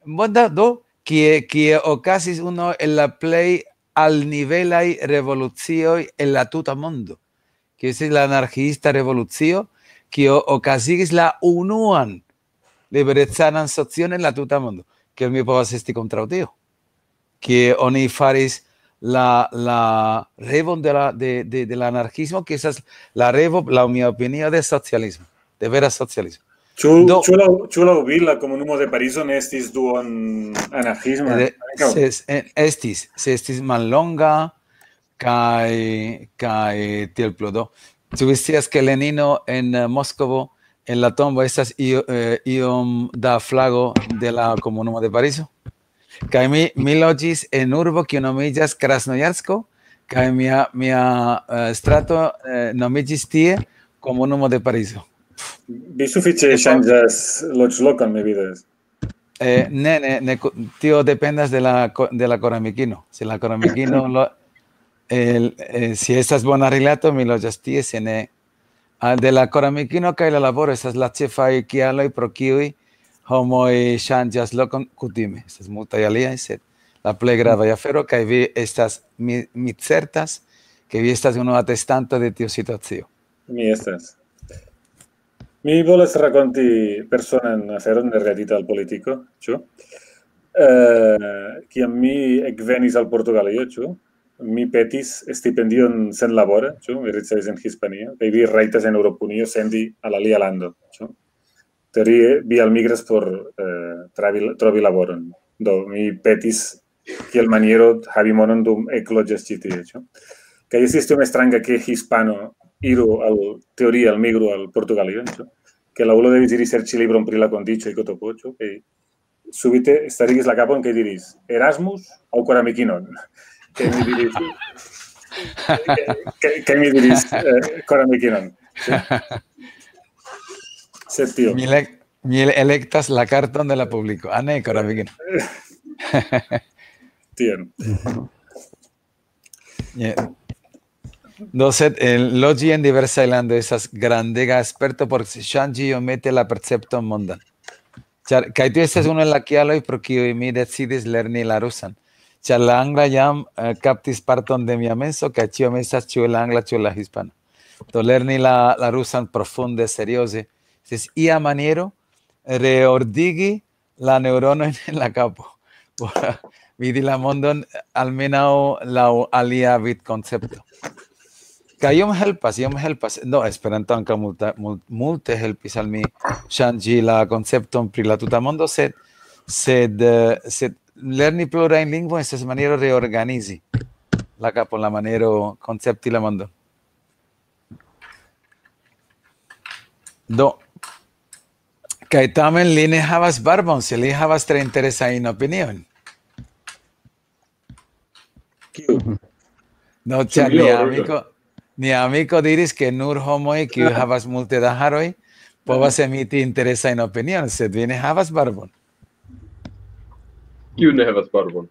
Bona, do, kie, kie okazis unu el la plej alnivelaj revolucioj en la tuta mondo, kiu estis la anarkiista revolucio, kio okazigis la unuan liberecanan socion en la tuta mondo. Kiel mi povas esti kontraŭ tio? Kie oni faris la, la revon de la, de, de, de la anarkismo, kiu estas la revo, laŭ mia opinio, de socialismo, de vera socialismo. Ĉu, Do- ĉu laŭ, ĉu laŭ vi la komunumo de Parizo ne estis duon anarkisma? Eh, ankaŭ? Se es-, eh, estis, se estis mallonga kaj, kaj tiel plu. Do, ĉu vi scias, ke Lenino en, eh, Moskvo, en la tombo estas io-, eh, iom da flago de la komunumo de Parizo? Kaj mi, mi loĝis en urbo, kiu nomiĝas Krasnojarsko, kaj mia, mia, eh, strato, eh, nomiĝis tie, komunumo de Parizo. Vi sufiĉe Epo- ŝanĝas loĝlokon, mi vidas. Eh, ne, ne, ne, ku-, tio dependas de la ko-, de la koramikino. Se la koramikino lo-, el, eh, si estas bona rilato, mi loĝas tie, se ne, ah, de la koramikino kaj la laboro estas la ĉefaj kialoj, pro kiuj homoj ŝanĝas lokon kutime. Estas multaj aliaj, sed la plej gravaj afero, kaj vi estas, mi, mi certas, ke vi estas unu atestanto de tiu situacio. Mi estas. Mi volas rakonti personan aferon nerelatita al politiko, ĉu? Eh, kiam mi ekvenis al Portugalio, ĉu? Mi petis stipendion senlabore, ĉu? Mi ricevis en Hispanio, kaj vi rajtas en Eŭropunio sendi al alia lando, ĉu? Teorie, vi almigras por, eh, travi-, trovi laboron. Do, mi petis kiel maniero havi monon dum ekloĝas ĉi tie, ĉu? Kaj estis tiom stranga, ke hispano iru al, teorie, al migru al Portugalio, ĉu? Ke la ulo devis iri serĉi libron pri la kondiĉoj, kotopo, ĉu? Kaj subite starigis la kapon kaj diris: "Erasmus aŭ koramikinon?" Kaj mi diris, kaj, kaj, kaj mi diris, eh, "Koramikinon." Sed tio. Mi le-, mi elektas la karton de la publiko. Ah, ne, koramikinon. Tion. Je. Do, sed, eh, loĝi en diversaj landoj estas grandega sperto por ŝanĝi iomete la percepton mondan. Ĉar, kaj tio estas unu el la kialoj, pro kiuj mi decidis lerni la rusan. Ĉar la angla jam, eh, kaptis parton de mia menso, kaj ĉiam estas ĉu la angla, ĉu la hispana. Do, lerni la, la rusan profunde, serioze, estis ia maniero reordigi la neŭronojn en la kapo, por vidi la mondon almenaŭ laŭ alia vidkoncepto. Kaj iom helpas, iom helpas. No, Esperanto ankaŭ multa-, mul-, multe helpis al mi ŝanĝi la koncepton pri la tuta mondo, sed, sed, eh, sed lerni plurajn lingvojn estas maniero reorganizi la kapon, la maniero koncepti la mondon. Do, kaj tamen li ne havas barbon, se li havas tre interesajn opiniojn. Kiu? No, ĉar Sinjoro. Nia amiko, nia amiko diris, ke nur homoj, kiu havas multe da haroj, povas emiti interesajn opiniojn, sed vi ne havas barbon. Kiu ne havas barbon?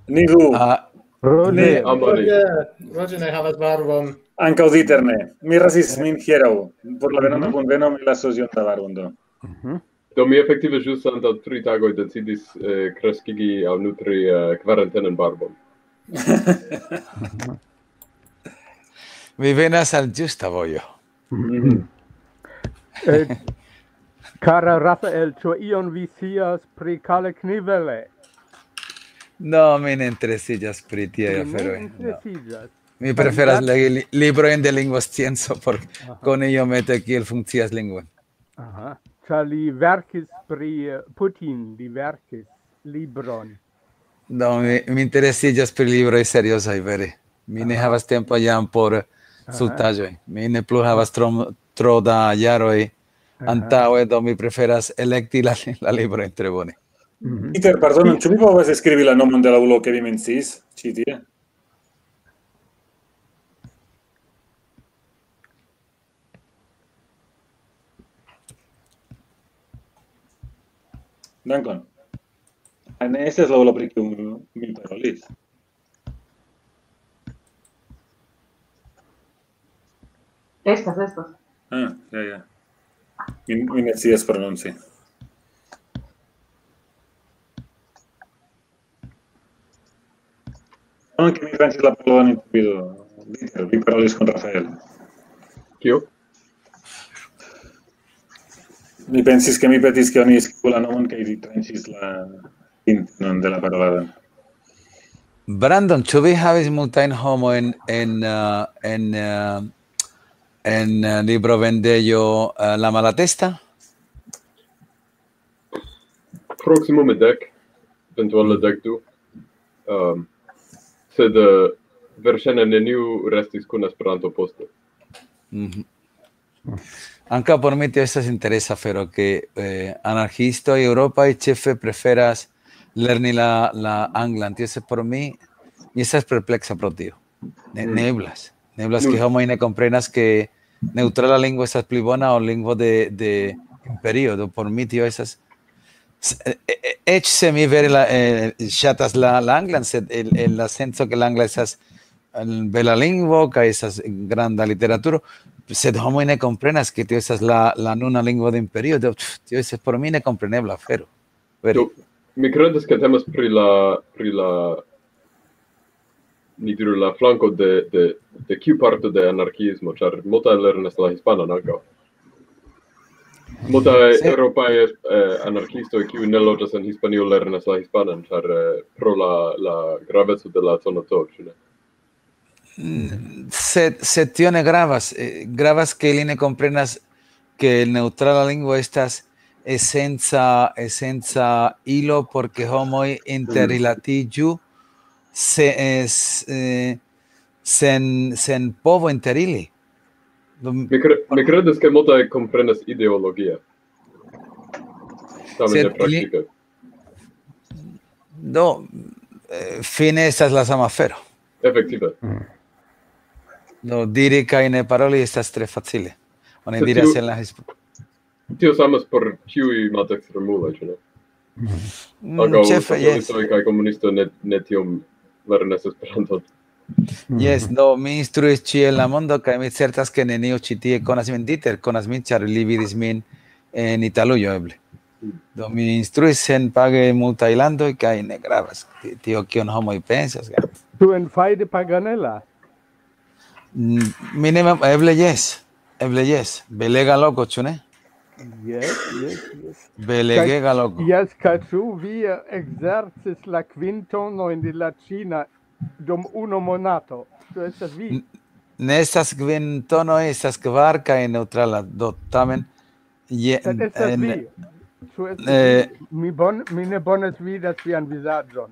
Ni du. Ah, Roger. Ni- Amari. Roger, Roger ne havas barbon. Ankaŭ Dieter ne. Mi rasis min hieraŭ. Por la venonta Mhm. Kunveno mi lasos iom da barbon, do. Mhm. Do mi efektive ĵus antaŭ tri tagoj decidis, eh, kreskigi aŭ nutri, eh, kvarentenan barbon. Vi venas al ĝusta vojo. Mhm. Eh, kara Rafael, ĉu ion vi scias pri Kalle Knivele? No, mi ne interesiĝas pri tiaj aferoj, no. Mi ne interesiĝas. Mi preferas legi li-, librojn de lingvoscienco por koni iomete kiel funkcias lingvon. Aha. Ĉar li verkis pri, eh, Putin, li verkis libron. Do, mi, mi interesiĝas pri libroj seriozaj, vere. Mi ne havas tempo jam por stultaĵoj. Mi ne plu havas tro, tro da jaroj antaŭe, do mi preferas elekti la, la librojn tre bone. Mhm. Peter, pardonon, ĉu mi povas skribi la nomon de la ulo, ke vi menciis ĉi tie? Dankon. Ah, ne estas la ulo, pri kiu mi parolis. Estas, estas. Ah, ja, ja. Mi, mi ne scias prononci. Anche mi tranĉis la paroladon intervjuo. Dieter, vi parolis con Rafael. Kio? Mi pensis, ke mi petis, ke oni skribu la nomon, kaj vi tranĉis la intenon de la parolado. Brandon, ĉu vi havis multajn homojn en, uh, en, uh, en uh, librovendejo uh, La Malatesta? Proksimume dek, eventuale dek du. Um, sed uh, verŝajne neniu restis kun Esperanto poste. Mm -hmm. Ankaŭ por mi tio estas interesa afero, ke eh, anarkiistoj eŭropaj ĉefe preferas lerni la, la anglan. Tio estas por mi, mi estas perpleksa pro tio. Ne, mm. Ne eblas. Ne eblas, ke homoj ne komprenas, ke neŭtrala lingvo estas pli bona ol lingvo de, de imperio. Do por mi tio estas... E, e, eĉ se mi vere la, eh, ŝatas la, la anglan, sed en, en la senco, ke la angla estas bela lingvo, kaj estas granda literaturo, sed homoj ne komprenas, ke tio estas la, la nuna lingvo de imperio. Do, tio estas por mi nekomprenebla afero. Vere. Do, mi kredas, ke temas pri la, pri la, ni diru, la flanko de, de, de kiu parto de anarkiismo, ĉar multaj lernas la hispanan ankaŭ. Multaj eŭropaj eh, anarkiistoj, kiuj ne loĝas en Hispanio, lernas la hispanan, ĉar eh, pro la, la graveco de la zono C, ĉu ne? Mm, sed, sed tio ne gravas. Eh, gravas, ke ili ne komprenas, ke neŭtrala lingvo estas esenca, esenca ilo por ke homoj interrilatiĝu se, es, eh, sen, sen povo inter ili. Mi, cre mi credas, ke multaj komprenas ideologie. Tamen ne praktike. Do, eh, fine estas la sama afero. Efektive. Do, diri kaj ne paroli estas tre facile. Oni diras en la hisp... Tio samas por ĉiuj malekstremuloj, ĉu ne? Mm, ĉefe, jes. Kaj komunisto ne, ne tiom lernas Esperanton. Jes, do mi instruis ĉie en la mondo, kaj mi certas, ke neniu ĉi tie konas min. Dieter konas min, ĉar li vidis min en Italujo eble. Do mi instruis senpage en multaj landoj, kaj ne gravas tio, kion homoj pensas. Tu en Fai de Paganela? Mm, mi ne mem-, eble jes, eble jes. Belega loko, ĉu ne? Jes, jes, jes. Belegega loko. Jes, kaj ĉu vi eh, ekzercis la kvintonojn de la ĉina dum unu monato? Ĉu estas vi? Ne estas kvintonoj, estas kvar kaj neŭtrala. Do tamen je, Sed estas en, vi. Ĉu estas eh, vi? Mi, bon, mi ne bone vidas vian vizaĝon.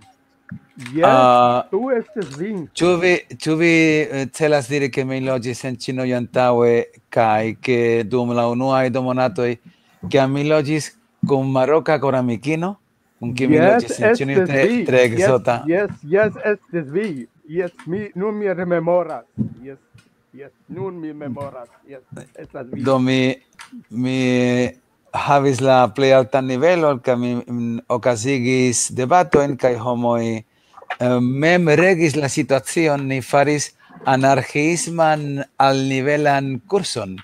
Jes, Ah. Tu estas vi. Ĉu vi, ĉu vi eh, celas diri, ke mi loĝis en Ĉinujo antaŭe, kaj ke dum la unuaj du monatoj, kiam mi loĝis kun maroka koramikino, kun kiu mi Jes, loĝis en Ĉinujo, estas tre, vi. Tre Jes, ekzota? Jes, jes, estas vi. Jes, mi, nun mi rememoras. Jes, jes, nun mi memoras. Jes, estas vi. Do mi, mi havis la plej altan nivelon, kaj mi mm, okazigis debatojn, kaj homoj eh, mem regis la situacion. Ni faris anarkiisman alnivelan kurson.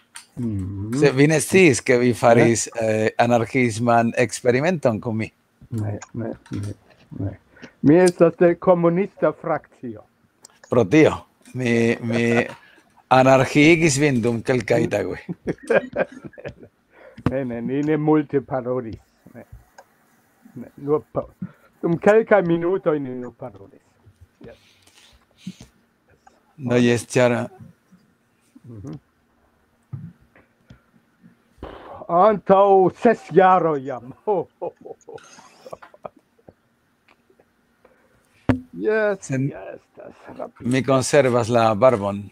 Se vi ne sciis, ke vi faris eh, anarkiisman eksperimenton kun mi. Ne, ne, ne, ne. Mi estas de komunista frakcio. Pro tio, mi, mi anarkiigis vin dum kelkaj tagoj. Ne, ne, ni ne multe parolis. Ne. Ne, nur pa dum kelkaj minutoj ni nur parolis. Yes. No, jes, ĉar Antaŭ ses jaroj jam. Ho, ho, ho, ho. Yes, Sen- yes, estas rapide. Mi konservas la barbon.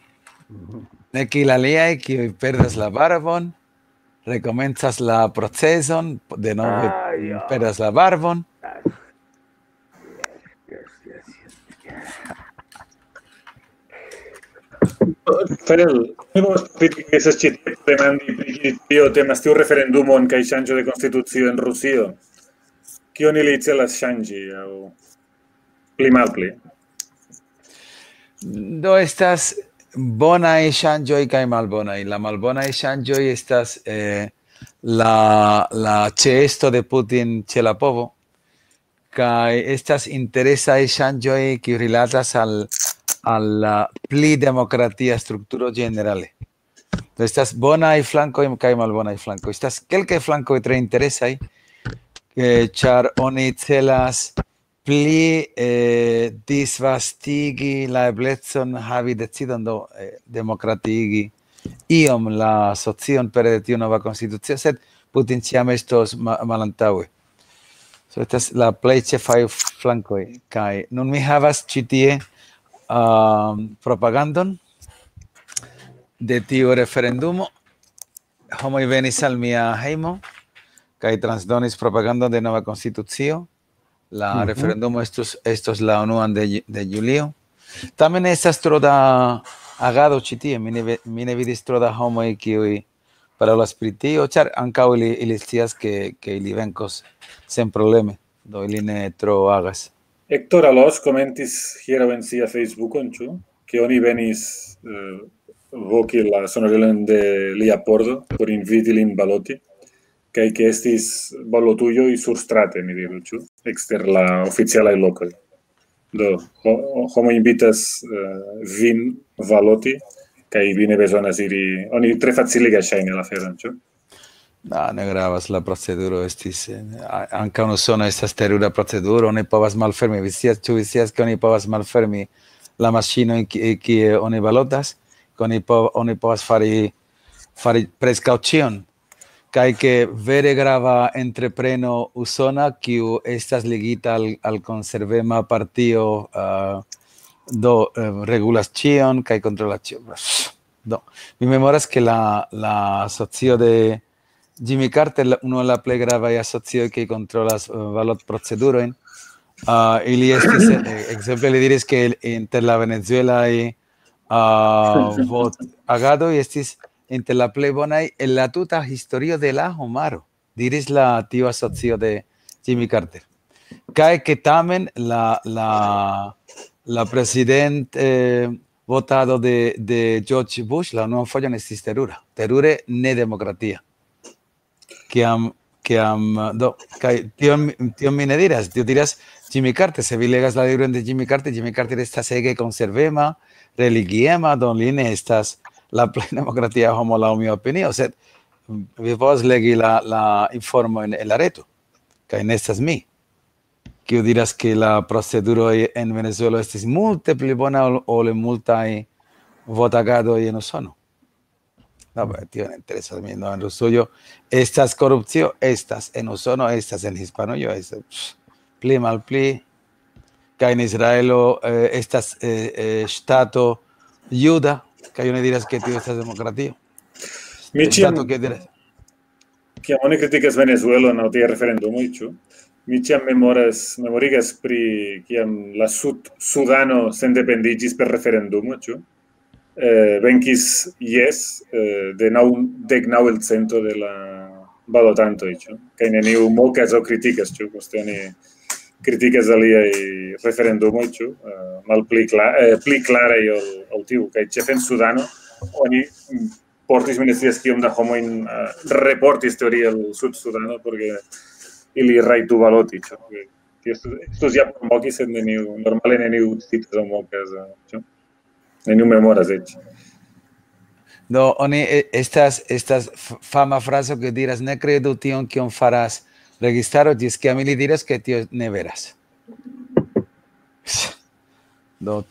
Ne kiel aliaj, kiuj perdas la barbon, rekomencas la proceson, denove Ah, ja. Perdas la barbon. Yes, yes, yes. Fel, mi povas profiti, ke estas ĉi tie, demandi pri kio temas tiu referendumo kaj ŝanĝo de konstitucio en Rusio. Kion ili celas ŝanĝi, aŭ pli malpli? Do estas, bonaj ŝanĝoj kaj malbonaj. La malbonaj ŝanĝoj estas, eh, la, la ĉeesto de Putin ĉe la povo, kaj estas interesaj ŝanĝoj, kiuj rilatas al, al la pli demokratia strukturo ĝenerale. Do estas bonaj flankoj kaj malbonaj flankoj. Estas kelkaj flankoj tre interesaj, eh, ĉar oni celas pli, eh, disvastigi la eblecon havi decidon, do, eh, demokratiigi iom la socion pere de tiu nova konstitucio, sed Putin ĉiam estos ma-, malantaŭe. So, estas la plej ĉefaj flankoj. Kaj nun mi havas ĉi tie, um, propagandon de tiu referendumo. Homoj venis al mia hejmo kaj transdonis propagandon de nova konstitucio. La Mhm. referendumo estus, estos la unuan de ju-, de julio. Tamen estas tro da agado ĉi tie. Mi ne ve-, mi ne vidis tro da homoj, kiuj parolas pri tio, ĉar ankaŭ ili, ili scias, ke, ke ili venkos senprobleme. Do ili ne tro agas. Hector Alos komentis hieraŭ en sia Facebookon, ĉu? Ke oni venis, eh, voki la sonorilon de lia pordo por inviti lin baloti, kaj ke estis balotujoj surstrate, mi diru, ĉu? Ekster la oficialaj lokoj. Do, ho-, ho-, homo invitas, eh, vin baloti, kaj vi ne bezonas iri, oni tre faciligas ŝajne la aferon, ĉu? No, ne gravas, la proceduro estis, eh, a-, ankaŭ en Usono estas terura proceduro, oni povas malfermi, vi scias, ĉu vi scias, ke oni povas malfermi la maŝinojn, ki-, kie oni balotas, ke oni po-, oni povas fari, fari preskaŭ ĉion, kaj ke vere grava entrepreno usona, kiu estas ligita al, al konservema partio, ah, do, eh, regulas ĉion kaj kontrolas ĉion. Do, mi memoras, ke la, la asocio de Jimmy Carter, la, unu el la plej gravaj asocioj, kiuj kontrolas, eh, balotprocedurojn, ah, ili estis, eh, ekzemple, li diris, ke inter la venezuelaj, ah, votagadoj estis inter la plej bonaj en la tuta historio de la homaro, diris la, tiu asocio de Jimmy Carter. Kaj ke tamen la, la, la prezident, eh, votado de, de George Bush la unuan fojon estis terura, terure nedemokratia. Kiam, kiam, do, kaj tion, tion mi ne diras, tio diras Jimmy Carter, se vi legas la libron de Jimmy Carter, Jimmy Carter estas ege konservema, religiema, do li ne estas la plej demokratia homo laŭ mia opinio, sed vi povas legi la, la informojn en la reto, kaj ne estas mi, kiu diras, ke la proceduroj en Venezuelo estis multe pli bona ol, ol en multaj votagadoj en Usono. No, pero tio ne interesas min, no, en Rusujo estas korupcio, estas en Usono, estas en Hispanujo, estas, pff, pli malpli, kaj en Israelo, eh, estas, eh, eh, ŝtato juda, kaj oni diras, ke tio estas demokratio. Mi ĉiam Ŝtato, ke diras Kiam oni kritikas Venezuelon aŭ tie referendumoj, ĉu? Mi ĉiam memoras, memorigas pri kiam la Sud-, Sudano sendependiĝis per referendumo, ĉu? Eh, venkis jes, eh, de naŭ-, dek naŭ el cento de la balotantoj, ĉu? Kaj neniu mokas aŭ kritikas, ĉu? Poste oni kritikas aliaj referendumoj, ĉu? Eh, malpli kla-, eh, pli klaraj ol, ol tiu. Kaj ĉefe en Sudano oni, mm, portis, mi ne scias kiom da homojn, eh, reportis teorie al Sud-Sudano, por ke ili rajtu baloti, ĉu? Tio estus, estus ja por moki, sed neniu, normale neniu citas aŭ mokas, eh, ĉu? Neniu memoras eĉ. Do, oni, e-, estas, estas f-, fama frazo, kiu diras: "Ne kredu tion, kion faras registaro, ĝis kiam ili diras, ke tio ne veras." Do,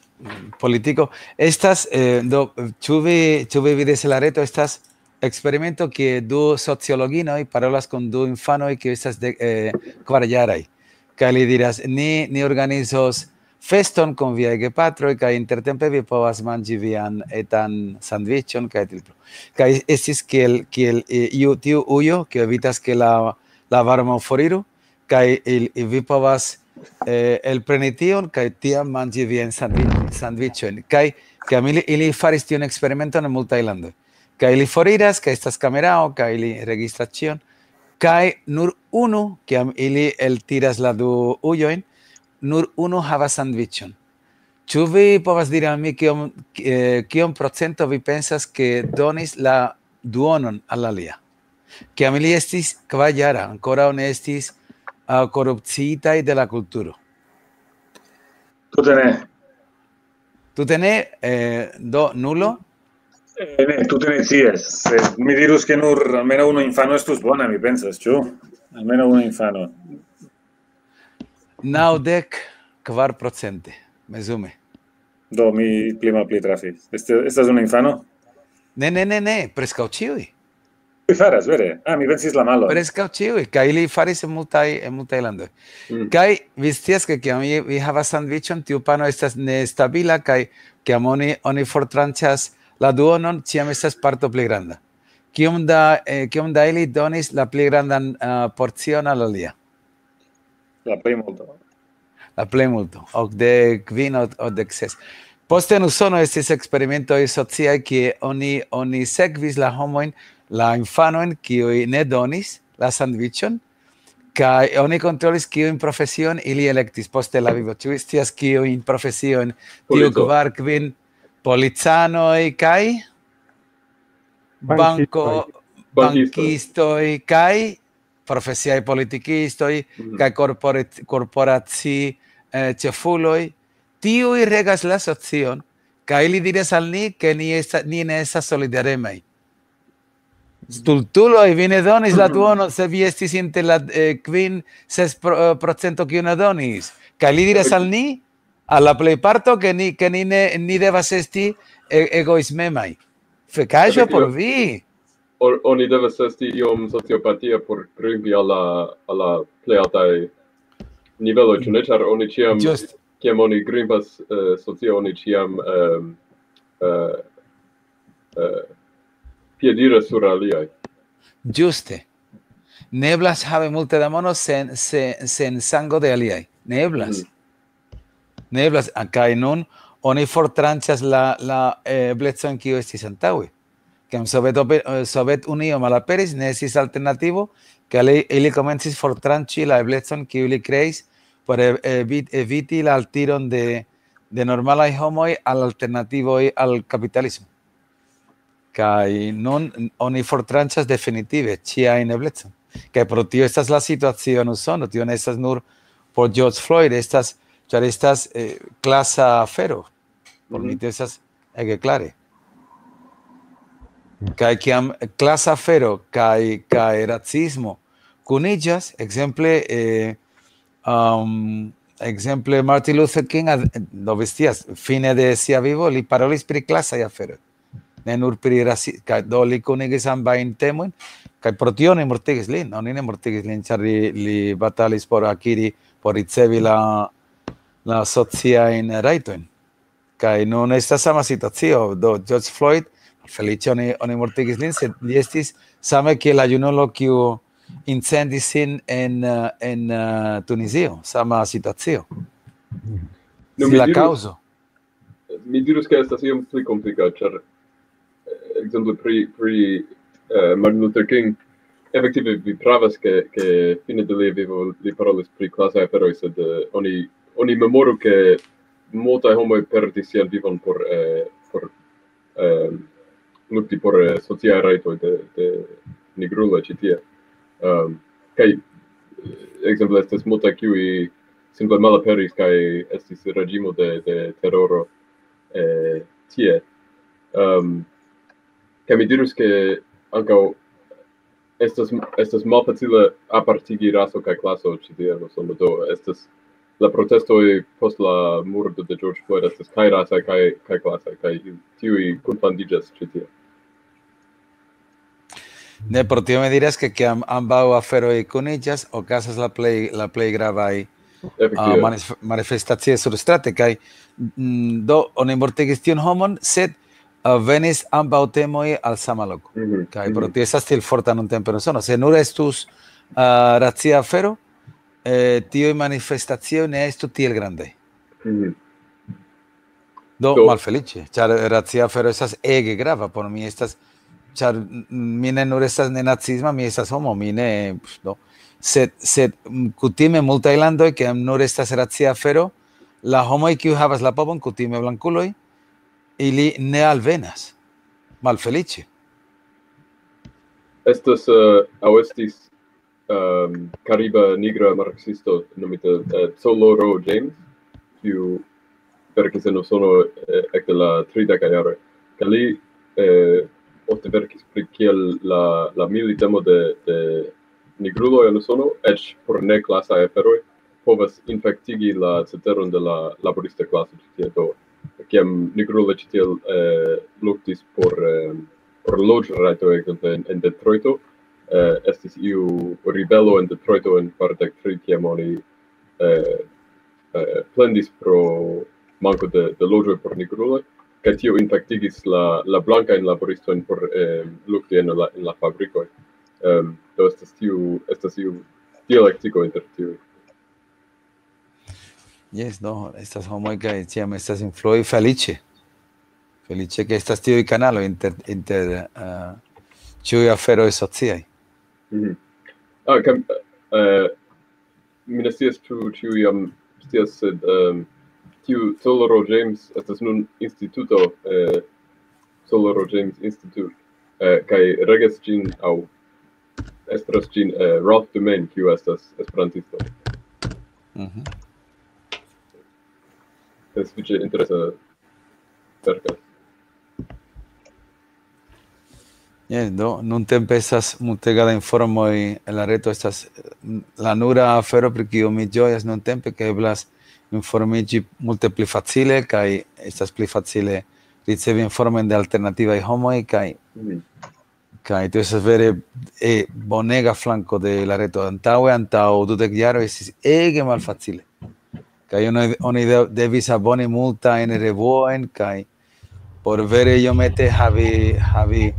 politiko estas, eh, do, ĉu vi, ĉu vi vidis en la reto, estas eksperimento, kie du sociologinoj parolas kun du infanoj, kiuj estas de, eh, kvar jaraj. Kaj li diras: "Ni, ni organizos feston kun viaj gepatroj, kaj intertempe vi povas manĝi vian etan sandviĉon", kaj tiel plu. Kaj estis kiel, kiel, eh, iu, tiu ujo, kiu evitas, ke la, la varmo foriru, kaj il-, vi povas, eh, elpreni tion, kaj tiam manĝi viajn sandvi-, sandviĉojn. Kaj, kaj ili, ili faris tiun eksperimenton en multaj landoj. Kaj ili foriras, kaj estas kamerao, kaj ili registras ĉion. Kaj nur unu, kiam ili eltiras la du ujojn, nur unu havas sandviĉon. Ĉu vi povas diri al mi, kiom, eh, kiom procento vi pensas, ke donis la duonon al alia? Kiam ili estis kvar jara, ankoraŭ ne estis, ah, korupciitaj de la kulturo. Tute ne. Tute ne, eh, do nulo? Eh, ne, tute ne scias. Se mi dirus, ke nur almenaŭ unu infano estus bona, mi pensas, ĉu? Almenaŭ unu infano. Naŭdek kvar procente, mezume. Do mi pli malpli trafis. Este, estas unu infano? Ne, ne, ne, ne, preskaŭ ĉiuj. Li faras, vere. Ah, mi pensis la malo. Preskaŭ ĉiuj, kaj ili faris en multaj, en multaj landoj. Mm. Kaj vi scias, ke kiam vi, vi havas sandviĉon, tiu pano estas nestabila, kaj kiam oni, oni fortranĉas la duonon, ĉiam estas parto pli granda. Kiom da, eh, kiom da ili donis la pli grandan, ah, porcion al alia? La plejmulto. La plejmulto, okdek kvin, ok-, okdek ses. Poste en Usono estis eksperimentoj sociaj, kie oni, oni sekvis la homojn, la infanojn, kiuj ne donis la sandviĉon, kaj oni kontrolis, kiujn profesiojn ili elektis poste la vivo. Ĉu vi scias, kiujn profesiojn tiu Polico. Kvar kvin? Policanoj kaj banko, Bankistoj. Bankistoj kaj profesiaj politikistoj Mhm. kaj korporat-, korporaci-, eh, ĉefuloj, tiuj regas la socion, kaj ili diras al ni, ke ni esta-, ni ne estas solidaremaj. Stultuloj, vi ne donis la duonon, se vi estis inter la, eh, kvin, ses pro-, eh, procento, kiu ne donis. Kaj li diras al ni, al la plejparto, ke ni, ke ni ne, ni devas esti e-, egoismemaj. Fekaĵo por vi. O-, oni devas esti iom sociopatia por grimpi al la, al la plej altaj niveloj, ĉu ne? Ĉar oni ĉiam, Just. Kiam oni grimpas, eh, socie, oni ĉiam, ehm, eh, eh, piediras sur aliaj. Ĝuste. Ne eblas havi multe da mono sen, sen, sen sango de aliaj. Ne eblas. Mhm. Ne eblas. A, kaj nun oni fortranĉas la, la, eh, eblecon, kiu estis antaŭe. Kiam Sovet-, eh, Sovetunio malaperis, ne estis alternativo, kaj ili, ili komencis fortranĉi la eblecon, kiu ili kreis por e-, evi-, eviti la altiron de, de normalaj homoj al alternativoj al kapitalismo. Kaj nun oni fortranĉas definitive ĉiajn eblecon. Kaj pro tio estas la situacio en Usono, tio ne estas nur por George Floyd, estas, ĉar estas, eh, klasa afero. Por mi Mhm. tio estas ege klare. Kaj kiam klasa afero kaj, kaj racismo kuniĝas, ekzemple, eh, um, ekzemple Martin Luther King ad-, do vi scias, fine de sia vivo li parolis pri klasaj aferoj. Ne nur pri rasi-, kaj do li kunigis ambajn temojn, kaj pro tio oni mortigis lin, oni ne mortigis lin, ĉar li, li batalis por akiri, por ricevi la, la sociajn rajtojn. Kaj nun estas sama situacio, do George Floyd, feliĉe oni, oni mortigis lin, sed li estis same kiel la junulo, kiu incendis sin en, eh, en, eh, Tunizio, sama situacio. No, Sin mi la diru- Kaŭzo. Mi dirus, ke estas iom pli komplika, ĉar, eh, ekzemple pri, pri, eh, Martin Luther King, efektive vi pravas, ke, ke fine de lia vivo li parolis pri klasaj aferoj, sed, eh, oni, oni memoru, ke multaj homoj perdis sian vivon por, eh, por, eh, lukti por, eh, sociaj rajtoj de, de nigruloj ĉi tie. Ehm, kaj, eh, ekzemple, estas multaj, kiuj simple malaperis, kaj estis reĝimo de, de teroro, eh, tie. Ehm, kaj mi dirus, ke ankaŭ estas, estas malfacile apartigi raso kaj klaso ĉi tie en Usono. Do estas la protestoj post la murdo de George Floyd estas kaj rasaj, kaj, kaj klasaj, kaj tiuj kunfandiĝas ĉi tie. Ne, pro tio mi diras, ke kiam ambaŭ aferoj kuniĝas, okazas la plej, la plej gravaj, ah, Efektive. manif-, manifestacioj surstrate, kaj, mm, do oni mortigis tiun homon, sed, ah, venis ambaŭ temoj al sama loko. Mhm, Kaj pro mhm. tio estas tiel forta nuntempe en Usono. Se nur estus, ah, racia afero, eh, tiuj manifestacioj ne estu tiel grandaj. Mhm. Do, Do- malfeliĉe, ĉar racia afero estas ege grava por mi, estas, ĉar, mm, mi ne nur estas nenacisma, mi estas homo, mi ne, do. Sed, sed, mm, kutime multaj landoj, kiam nur estas racia afero, la homoj, kiu havas la povon, kutime blankuloj, ili ne alvenas. Malfeliĉe. Estas uh, aŭ estis um, kariba nigra marksisto nomita uh, Coloro James, kiu verkis en Usono uh, ekde la trideka jaroj. Kaj li uh, ofte verkis pri kiel la, la militemo de, de nigruloj en Usono, eĉ por ne klasaj aferoj, povas infektigi la ceteron de la laborista klaso ĉi tie. Do, kiam nigruloj ĉi tiel eh, luktis por, eh, por loĝrajto, ekzemple en, en Detroito, eh, estis iu ribelo en Detroito en kvardek tri, kiam oni eh, eh, plendis pro manko de, de loĝoj por nigruloj, kaj tio infektigis la, la blankajn laboristojn por eh, lukti en la, en la fabrikoj. Um, do estas tiu, estas iu dialektiko inter tiuj. Jes, no, estas homoj kaj ĉiam estas influoj feliĉe. Feliĉe ke estas tiuj kanaloj inter, inter uh, ĉiuj aferoj sociaj. Mm -hmm. Ah, kam, uh, mi ne scias ĉu ĉiuj jam scias, sed um, tiu Coloro James estas nun instituto, uh, Coloro James Institute, uh, kaj regas ĝin aŭ estras ĝin uh, Ralph Dumain, kiu estas esperantisto. Mm -hmm. Sufiĉe interesa verkas. Yes, do, nuntempe estas multega da informoj en la reto, estas la nura afero pri kiu mi ĝojas nuntempe, ke eblas informiĝi multe pli facile kaj estas pli facile ricevi informojn de alternativaj homoj kaj mm. Kaj tio estas vere eh, bonega flanko de la reto. Antaŭe, antaŭ dudek jaroj estis ege malfacile. Kaj oni, oni devis aboni multajn revuojn kaj por vere iomete havi, havi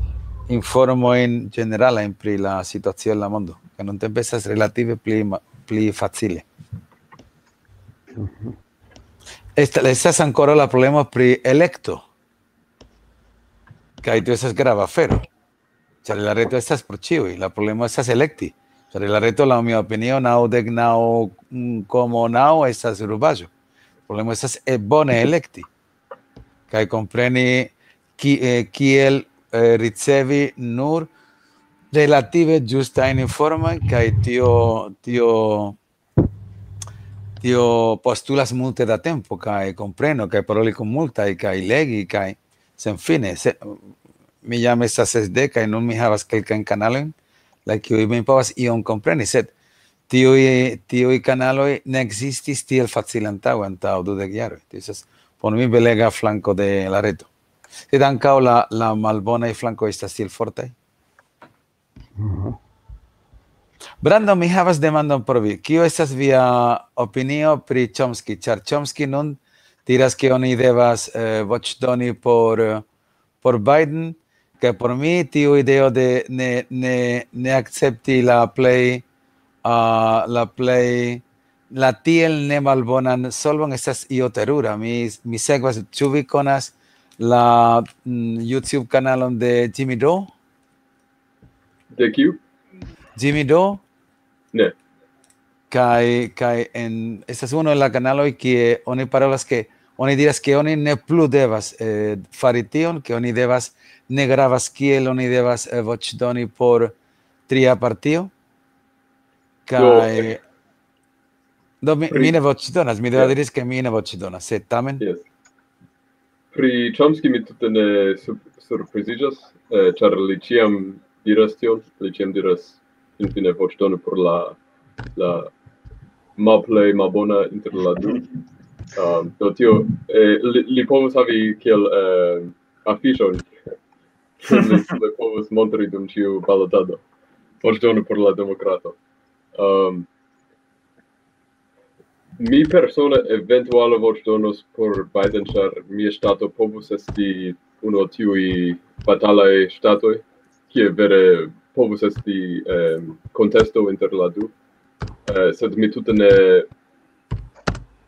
informojn ĝeneralajn pri la situacio en la mondo. Kaj nuntempe estas relative pli, pli facile. Estas ankoraŭ la problemo pri elekto. Kaj tio estas grava afero. Ĉar la reto estas por ĉiuj. La problemo estas elekti. Ĉar la reto, laŭ mia opinio, naŭdek naŭ komo naŭ estas rubaĵo. La problemo estas eh, bone elekti. Kaj kompreni kiel eh, ricevi nur relative ĝustajn informojn, kaj tio, tio, tio postulas multe da tempo, kaj kompreno, kaj paroli kun multaj, kaj legi, kaj senfine. Se, mi jam estas sesdek, kaj nun mi havas kelkajn kanalojn, la kiuj mi povas ion kompreni, sed tiuj, tiuj kanaloj ne ekzistis tiel facile antaŭ, antaŭ dudek jaroj. Tio estas por mi belega flanko de la reto. Sed ankaŭ la, la malbonaj flankoj estas tiel fortaj. Brando, mi havas demandon por vi. Kio estas via opinio pri Chomsky? Ĉar Chomsky nun diras, ke oni devas eh, voĉdoni por, por Biden, kaj por mi tiu ideo de ne, ne, ne akcepti la plej, uh, la plej, la tiel nemalbonan solvon estas io terura. Mi, mi sekvas, ĉu vi konas la mm, YouTube kanalon de Jimmy Doe? De kiu? Jimmy Doe? Ne. Kaj, kaj en, estas uno el la kanaloj kie oni parolas ke oni diras ke oni ne plu devas eh, fari tion, ke oni devas, ne gravas kiel oni devas eh, voĉdoni por tria partio. Kaj... Do, mi, mi ne voĉdonas, mi devas diris ke mi ne voĉdonas, sed tamen... Yes. Pri Chomsky mi tute ne surpriziĝas, eh, ĉar li ĉiam diras tion, li ĉiam diras finfine voĉdonu por la, la malplej malbona inter la du. Um, do tio, eh, li, li povus havi kiel eh, afiŝon, li, li povus montri dum ĉiu balotado. Voĉdonu por la demokrato. Um, mi persone eventuale voĉdonos por Biden, ĉar mia ŝtato povus esti unu el tiuj batalaj ŝtatoj, kie vere povus esti um, kontesto inter la du. Uh, sed mi tute ne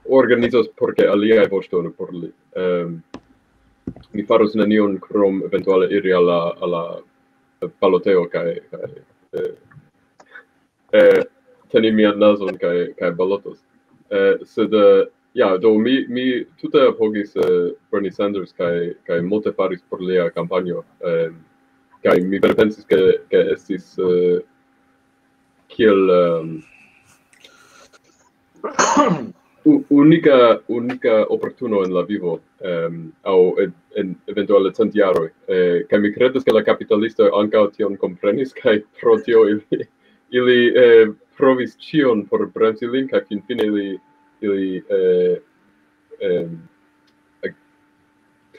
organizos por ke aliaj voĉdonu por li. Um, mi faros nenion krom eventuale iri al la, al la baloteo kaj, kaj eh, eh, teni mian nazon kaj, kaj balotos. Eh, sed eh, Ja, do mi, mi tute apogis eh, Bernie Sanders kaj, kaj multe faris por lia kampanjo. Eh, kaj mi vere pensis, ke, ke estis eh, kiel um, unika, unika oportuno en la vivo, um, aŭ en, en eventuale cent jaroj. Eh, kaj mi kredas, ke la kapitalistoj ankaŭ tion komprenis, kaj pro tio ili, ili eh, provis ĉion por bremsi lin, kaj finfine ili, ili eh, eh,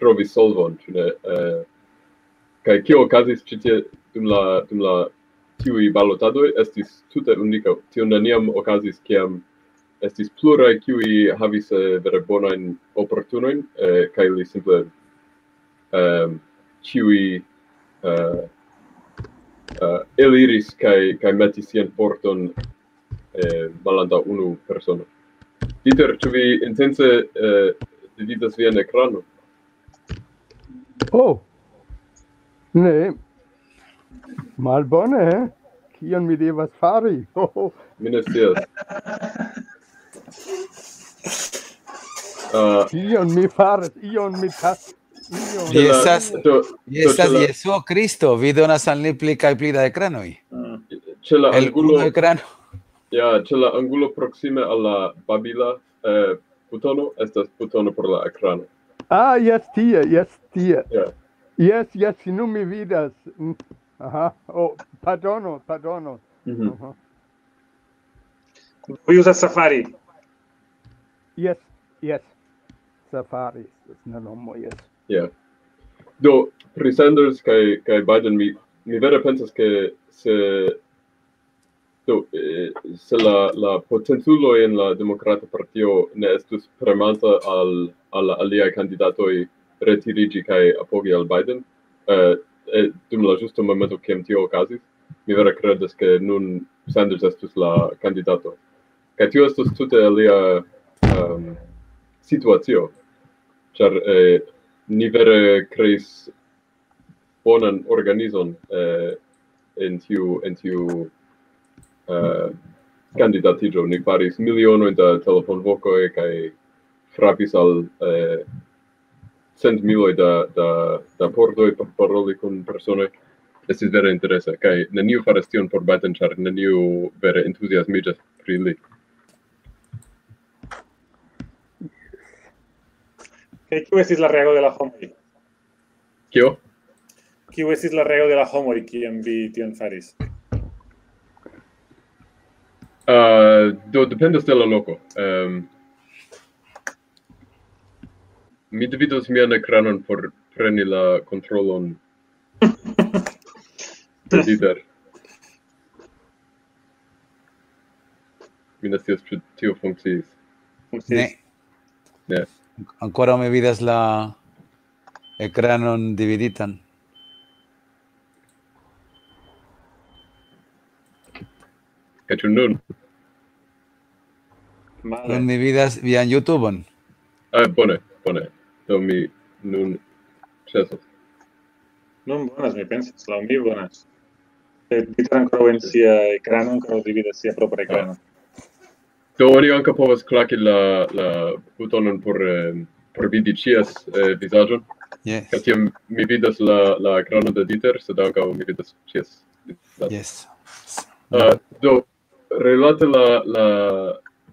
trovis solvon, ĉu ne? Eh, kaj kio okazis ĉi tie dum la, dum la tiuj balotadoj estis tute unika. Tio neniam okazis, kiam estis pluraj, kiuj havis eh, vere bonajn oportunojn, eh, kaj li simple eh, ĉiuj eh, eh, eliris kaj, kaj metis sian forton eh, malantaŭ unu persono. Dieter, ĉu vi intence eh, dividas vian ekranon? Oh, ne. Malbone, eh? Kion mi devas fari? Oh, Mi ne scias. Uh, kion mi faras? Ion mi tas... Ion. Li estas, do, li estas do, Jesuo Kristo, vi donas al ni pli kaj pli da ekranoj. Ĉe la El angulo, unu ekrano. Ja, ĉe la angulo proksime al la babila eh, butono estas butono por la ekrano. Ah, jes, tie, jes, tie. Ja. Jes, jes, nun mi vidas. Mm, aha, oh, pardono, pardono. Mhm. Aha. Vi uzas Safari. Jes, jes. Safari estas la nomo, jes. Ja. Do, pri Sanders kaj, kaj Biden, mi, mi vere pensas, ke se, do, eh, se la, la potenculoj en la Demokrata Partio ne estus premanta al, al la aliaj kandidatoj retiriĝi kaj apogi al Biden, eh, eh, dum la ĝusta momento, kiam tio okazis, mi vere kredas, ke nun Sanders estus la kandidato. Kaj tio estus tute alia um, situacio, ĉar eh, ni vere kreis bonan organizon eh, en tiu, en tiu eh, kandidatiĝo. Ni faris milionoj da telefonvokoj kaj frapis al eh, cent miloj da, da, da pordoj por paroli kun personoj. Estis vere interesa, kaj neniu faras tion por Biden, ĉar neniu vere entuziasmiĝas pri li. Kaj kiu estis la reago de la homoj? Kio? Kiu estis la reago de la homoj, kiam vi tion faris? Uh, do, dependas de la loko. Um, mi dividos mian ekranon por preni la kontrolon de Dieter. Mi ne scias, ĉu tio funkciis. Ne. Ne. Ankoraŭ mi vidas la ekranon dividitan. Kaj ĉu nun? Vale. Nun mi vidas vian YouTube-on. Ah, bone, bone. Do mi nun ĉesos. Nun bonas, mi pensas, laŭ mi bonas. Eh, Dieter ankoraŭ en sia ekrano, ankoraŭ dividas sia propra ekrano. Do oni ankaŭ povas klaki la, la butonon por, eh, por vidi ĉies eh, vizaĝon. Yes. Kaj tiam mi vidas la, la ekranon de Dieter, sed ankaŭ mi vidas ĉies vizaĝon. Yes. Uh, do, relate la, la,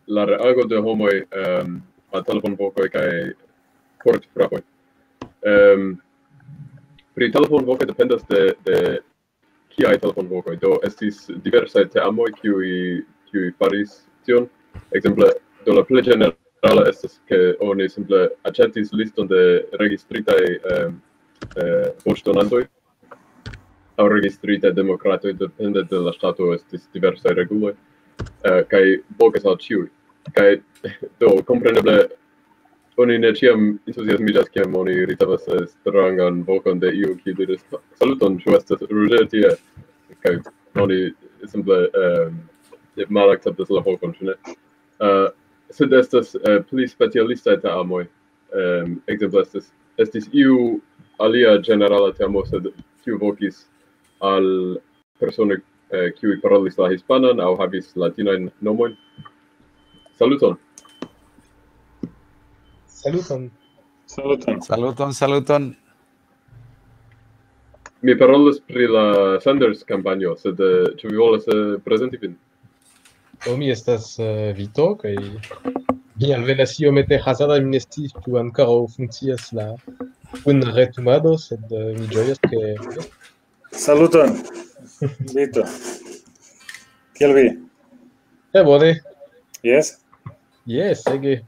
la reago de homoj um, a telefonvokoj kaj portfrapoj. Um, pri telefonvokoj dependas de, de kiaj telefonvokoj. Do estis diversaj teamoj, kiuj, kiuj faris tion. Ekzemple, do la plej ĝenerala estas, ke oni simple aĉetis liston de registritaj um, eh, voĉdonantoj aŭ registritaj demokratoj, depende de la ŝtato estis diversaj reguloj, eh, kaj vokas al ĉiuj. Kaj do, kompreneble, oni ne ĉiam entuziasmiĝas, kiam oni ricevas eh, strangan vokon de iu, kiu diris: "Saluton, ĉu estas Roger tie?" Kaj oni simple eh, malakceptas la vokon, ĉu ne? Eh, sed estas eh, pli specialistaj teamoj. Eh, ekzemple, estis, estis iu alia ĝenerala teamo, sed kiu vokis al personoj, eh, kiuj parolis la hispanan aŭ havis latinajn nomojn. Saluton. Saluton. Saluton. Saluton, saluton. Mi parolas pri la Sanders kampanjo, sed eh, ĉu vi volas eh, prezenti vin? Do mi estas eh, Vito, kaj mi alvenas iomete hazarda, mi ne sciis, ĉu ankoraŭ funkcias la kun retumado, sed eh, mi ĝojas, ke Saluton. Vito. Kiel vi? Eh, bone. Yes? Yes, ege.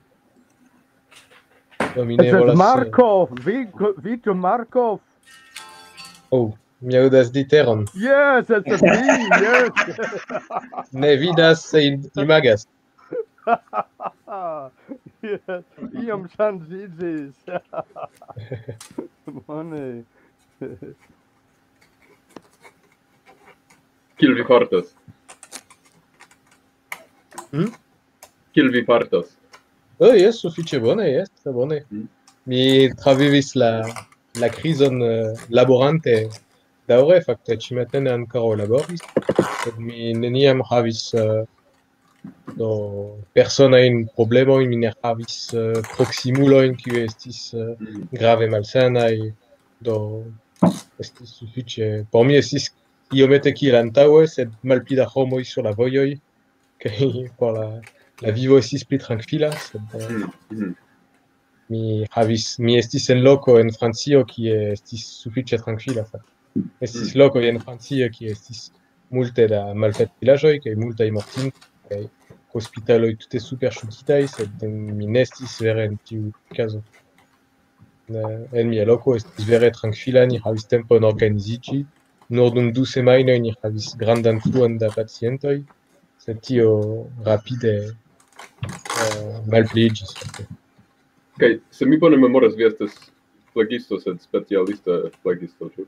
Do mi ne Estas volas... eh, Markov, Vi- Vito Markov. Oh, mi aŭdas literon. Yes, estas mi, yes. Ne vidas, se in- imagas. Yes. Iom ŝanĝiĝis. Bone. Kiel vi fartas? Hmm? Kiel vi fartas? Oh, jes, sufiĉe bone, jes, tre bone. Mm. Mi travivis la, la krizon eh, laborante daŭre, fakte ĉimatene ankoraŭ laboris, sed mi neniam havis eh, do personajn problemojn, mi ne havis eh, proksimulojn, kiuj estis eh, Mm. grave malsanaj, do estis sufiĉe, por mi estis iomete kiel antaŭe, sed malpli da homoj sur la vojoj, kaj por la, la vivo estis pli trankvila, sed eh, Mm, mm. mi havis, mi estis en loko en Francio, kie estis sufiĉe trankvila. Fakte. Estis lokoj en Francio, kie estis multe da malfacilaĵoj, kaj multaj mortintoj, kaj hospitaloj tute superŝutitaj, sed mi ne estis vere en tiu kazo. Ne, en mia loko estis vere trankvila, ni havis tempon organiziĝi. Nur dum du semajnoj ni havis grandan fluon da pacientoj, sed tio rapide eh, malpliiĝis. Kaj se mi bone memoras, vi estas flagisto, sed specialista flagisto, ĉu?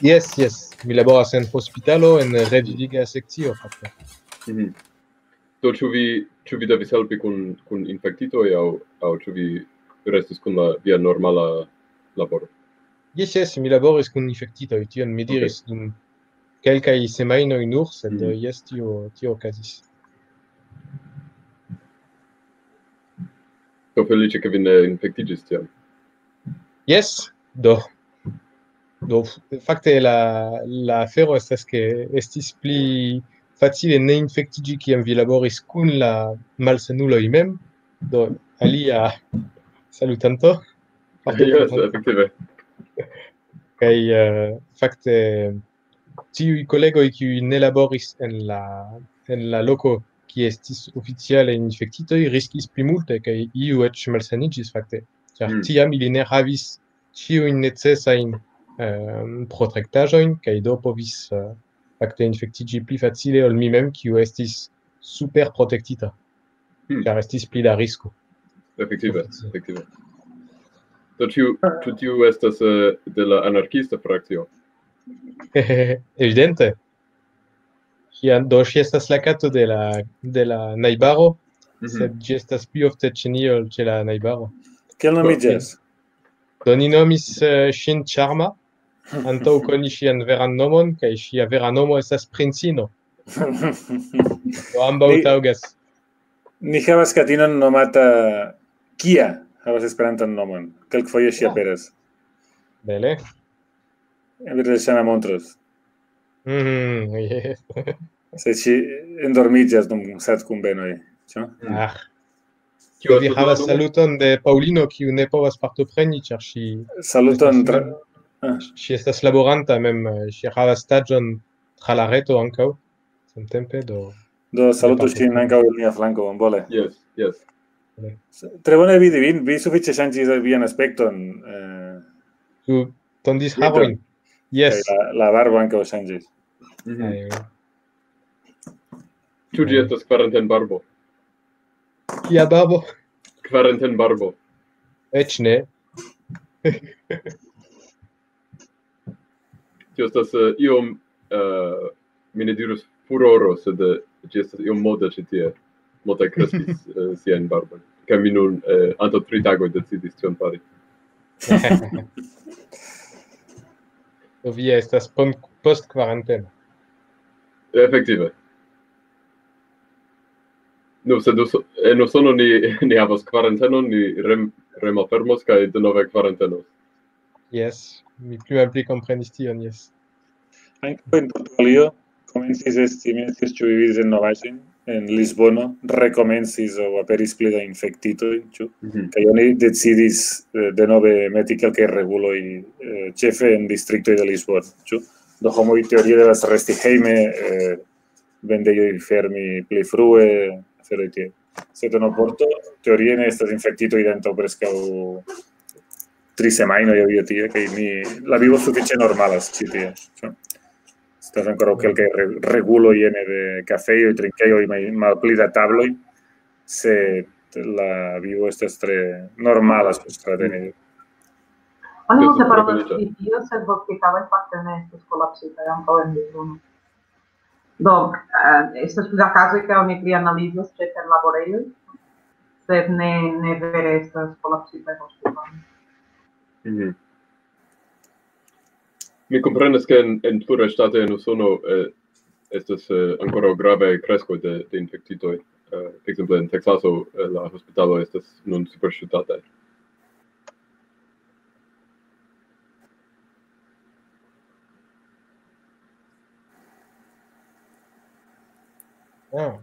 Jes, jes, mi laboras en hospitalo, en reviviga sekcio, fakte. Mhm. Do ĉu vi, ĉu vi devis helpi kun, kun infektitoj aŭ, aŭ ĉu vi restis kun la via normala laboro? Jes, jes, mi laboris kun infektitoj, tion mi diris dum kelkaj semajnoj nur, sed Mhm. jes, tio, tio okazis. Do feliĉe, ke vi ne infektiĝis tiam. Jes, do. Do, f- fakte la, la afero estas, ke estis pli facile ne infektiĝi, kiam vi laboris kun la malsanuloj mem. Do, alia salutanto. Jes, efektive. Kaj eh, fakte tiuj kolegoj, kiuj ne laboris en la, en la loko, kie estis oficiale infektitoj, riskis pli multe, kaj iu eĉ malsaniĝis fakte. Ĉar Mm. tiam ili ne havis ĉiujn necesajn eh, protektaĵojn, kaj do povis eh, fakte infektiĝi pli facile ol mi mem, kiu estis super protektita, Hmm. ĉar estis pli da risko. Efektive, efektive. Do ĉu, ĉu tiu estas eh, de la anarkista frakcio? Evidente. Ŝi an- do ŝi estas la kato de la, de la najbaro, Mhm. sed ĝi estas pli ofte ĉe ni ol ĉe la najbaro. Kiel nomiĝas? Do ni nomis eh, ŝin Charma, antaŭ koni ŝian veran nomon, kaj ŝia vera nomo estas Princino. Do ambaŭ Ni- taŭgas. Ni havas katinon nomata Kia, havas Esperantan nomon. Kelkfoje ŝi Ah. aperas. Bele. Eble Sana montros. Mhm, yes. Se ŝi endormiĝas dum sat kunvenoj. Ĉu? Ah. Kio Vi estas havas la nomo? Saluton de Paŭlino, kiu ne povas partopreni, ĉar ŝi Saluton. estas Tra... ŝi estas laboranta mem, eh, ŝi havas staĝon tra la reto ankaŭ, samtempe, do Do salutu ŝin ankaŭ el mia flanko, bonvole. Jes, jes. Tre bone vidi vin, vi sufiĉe ŝanĝis vian aspekton. Eh, Ĉu tondis Vito. Harojn? Yes. Kaj la, la barbo ankaŭ ŝanĝis. Mhm. Aj, Ĉu ĝi estas kvarentenbarbo? Kia barbo? Kvarentenbarbo. Eĉ ne. Tio estas eh, iom, eh, mi ne dirus furoro, sed eh, ĝi estas iom moda ĉi tie. Multaj kreskis eh, siajn barbojn. Kaj mi nun eh, antaŭ tri tagoj decidis tion fari. Do vi estas pon- post kvaranteno. Efektive. Nu, sed Uso- en Usono ni, ni havas kvarentenon, ni rem, remalfermos kaj denove karantenos. Jes, mi pli malpli komprenis tion, jes. Ankaŭ en Portugalio komencis esti, mi ne scias, ĉu vi vidis en novaĵojn, en Lisbono rekomencis aŭ aperis pli da infektitoj, ĉu? Mhm. Kaj oni decidis eh, denove meti kelkaj reguloj, eh, ĉefe en distriktoj de Lisbono, ĉu? Do homoj teorie devas resti hejme, eh, vendejoj fermi pli frue, aferoj tiel. Sed en Oporto teorie ne estas infektitoj de antaŭ preskaŭ tri semajnoj aŭ io tie, kaj mi, la vivo sufiĉe normalas ĉi tie, ĉu? Estas ankoraŭ kelkaj re-, reguloj ene de kafejoj, trinkejoj, ma-, malpli da tabloj, sed la vivo estas tre normala sur stratenejo. Oni Io, multe parolas trankviliĝa. Pri tio, sed vodkekavoj fakte ne estas kolapsitaj ankaŭ en Lisbono. Do, eh, estas pli da kazoj ke oni pli analizas ĉe perlaborejoj, sed ne, ne vere estas kolapsitaj hospitaloj. Mhm. Mi komprenas, ke en, en pluraj ŝtatoj en Usono eh, estas eh, ankoraŭ gravaj kreskoj de, de infektitoj. Eh, ekzemple en Teksaso eh, la hospitalo estas nun superŝutataj. Ah,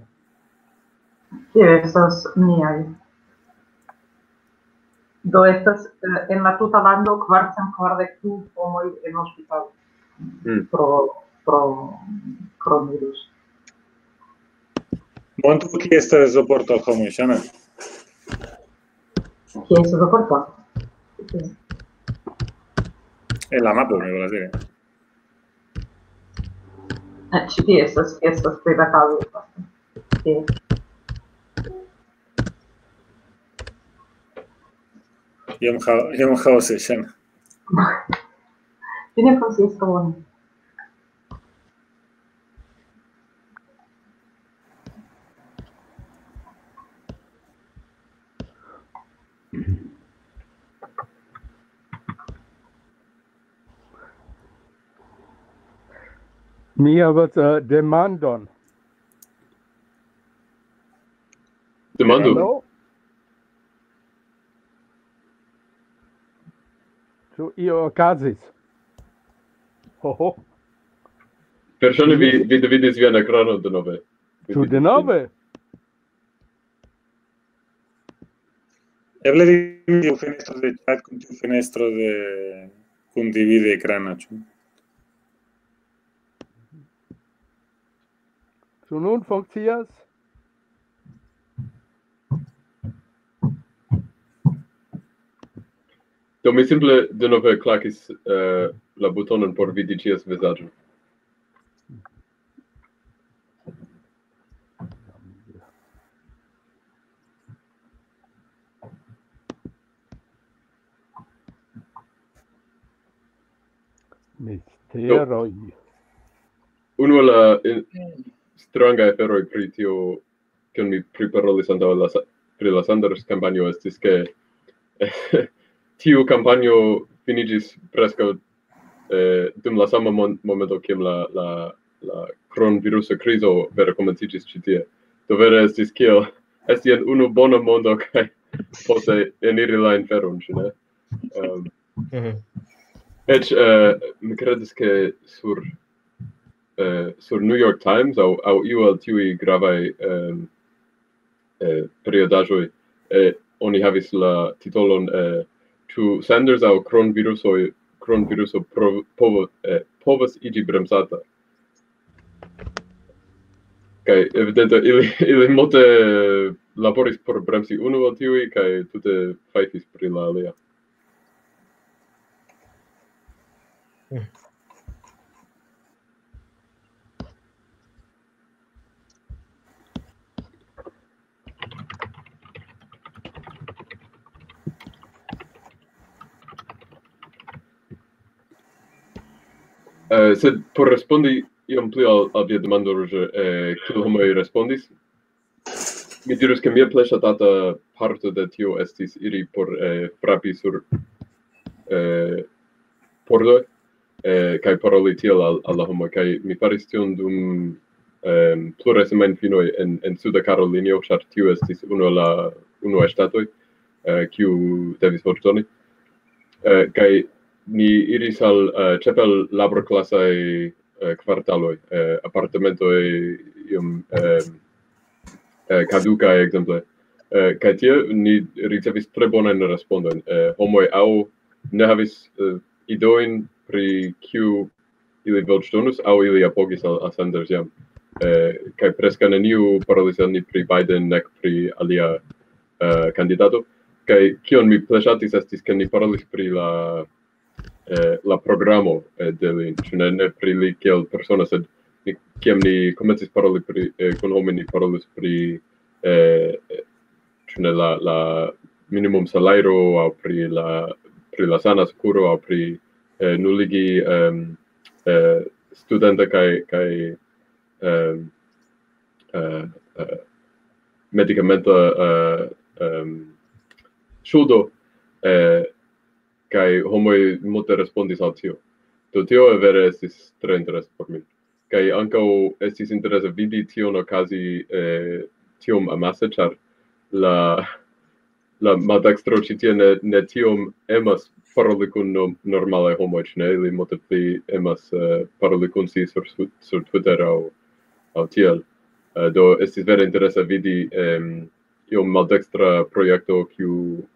Tio estas niaj. Do estas eh, en la tuta lando kvarcent kvardek du homoj en hospitalo Mm. pro, pro coronavirus. Montu kie estas Oporto al homoj, Ŝana? Kie estas Oporto? En la mapo, mi volas diri. Eh, Ĉi tie estas, estas pli da kazoj. Tie. Iom ha-, iom haoze, Ŝana. Ĝi ne funkcias tro bone. Mi havas uh, demandon. Demandu. Hello? Ĉu io okazis? Ho, ho. Verŝajne vi, vi dividis vian ekranon denove. Ĉu denove? Eble dividi tiu fenestro de chat kun tiu fenestro de kun dividi ekrana, ĉu? Ĉu nun funkcias? Do mi simple denove klakis eh, la butonon por vidi ĉies vizaĝo. Misteroj. Unu el la eh, strangaj aferoj pri tio, kion mi priparolis antaŭ la sa- pri la Sanders kampanjo, estis ke tiu kampanjo finiĝis preskaŭ eh, dum la sama mon- momento, kiam la, la, la kronvirusa krizo vere komenciĝis ĉi tie. Do vere estis kiel esti en unu bona mondo kaj poste eniri la inferon, ĉu ne? Um, Mhm. Eĉ eh, mi kredas, ke sur eh, sur New York Times aŭ, aŭ iu el tiuj gravaj eh, eh, periodaĵoj eh, oni havis la titolon eh, ĉu Sanders aŭ kronvirusoj kronviruso provo, povo, eh, povas iĝi bremsata. Kaj evidente ili, ili multe laboris por bremsi unu el tiuj kaj tute fajfis pri la alia. Eh, sed por respondi iom pli al, al via demando, Roger, eh, kiel homoj respondis, mi dirus, ke mia plej ŝatata parto de tio estis iri por eh, frapi sur eh, pordoj eh, kaj paroli tiel al, al la homoj. Kaj mi faris tion dum eh, pluraj semajnfinoj en, en Suda Karolinio, ĉar tio estis unu el la unuaj ŝtatoj. eh, kiu devis voĉdoni. Eh, kaj ni iris al, eh, ĉefe al laborklasaj, eh, kvartaloj, eh, apartamentoj iom, eh, eh, kadukaj, ekzemple. Eh, kaj tie ni ricevis tre bonajn respondojn. Eh, homoj aŭ ne havis, eh, ideojn pri kiu ili voĉdonus, aŭ ili apogis al, al Sanders jam. Eh, kaj preskaŭ neniu parolis al ni pri Biden nek pri alia, eh, kandidato. Kaj kion mi plej ŝatis estis, ke ni parolis pri la, eh, la programo, eh, de li, ĉu ne, ne pri li kiel persona, sed ni, kiam ni komencis paroli pri, eh, kun homoj, ni parolis pri, eh, ĉu ne, la, la minimum salajro, aŭ pri la, pri la sana sekuro, aŭ pri, eh, nuligi, em, eh, studenta kaj, kaj, em, eh, eh, medikamenta, eh, em, ŝuldo, eh, kaj homoj multe respondis al tio. Do tio vere estis tre interesa por mi. Kaj ankaŭ estis interese vidi tion okazi, eh, tiom amase, ĉar la, la maldekstro ĉi tie ne, ne tiom emas paroli kun no-, normalaj homoj, ĉu ne? Ili multe pli emas, eh, paroli kun si sur, sur Twitter aŭ, aŭ tiel. Eh, do estis vere interesa vidi, em, iom maldekstra projekto, kiu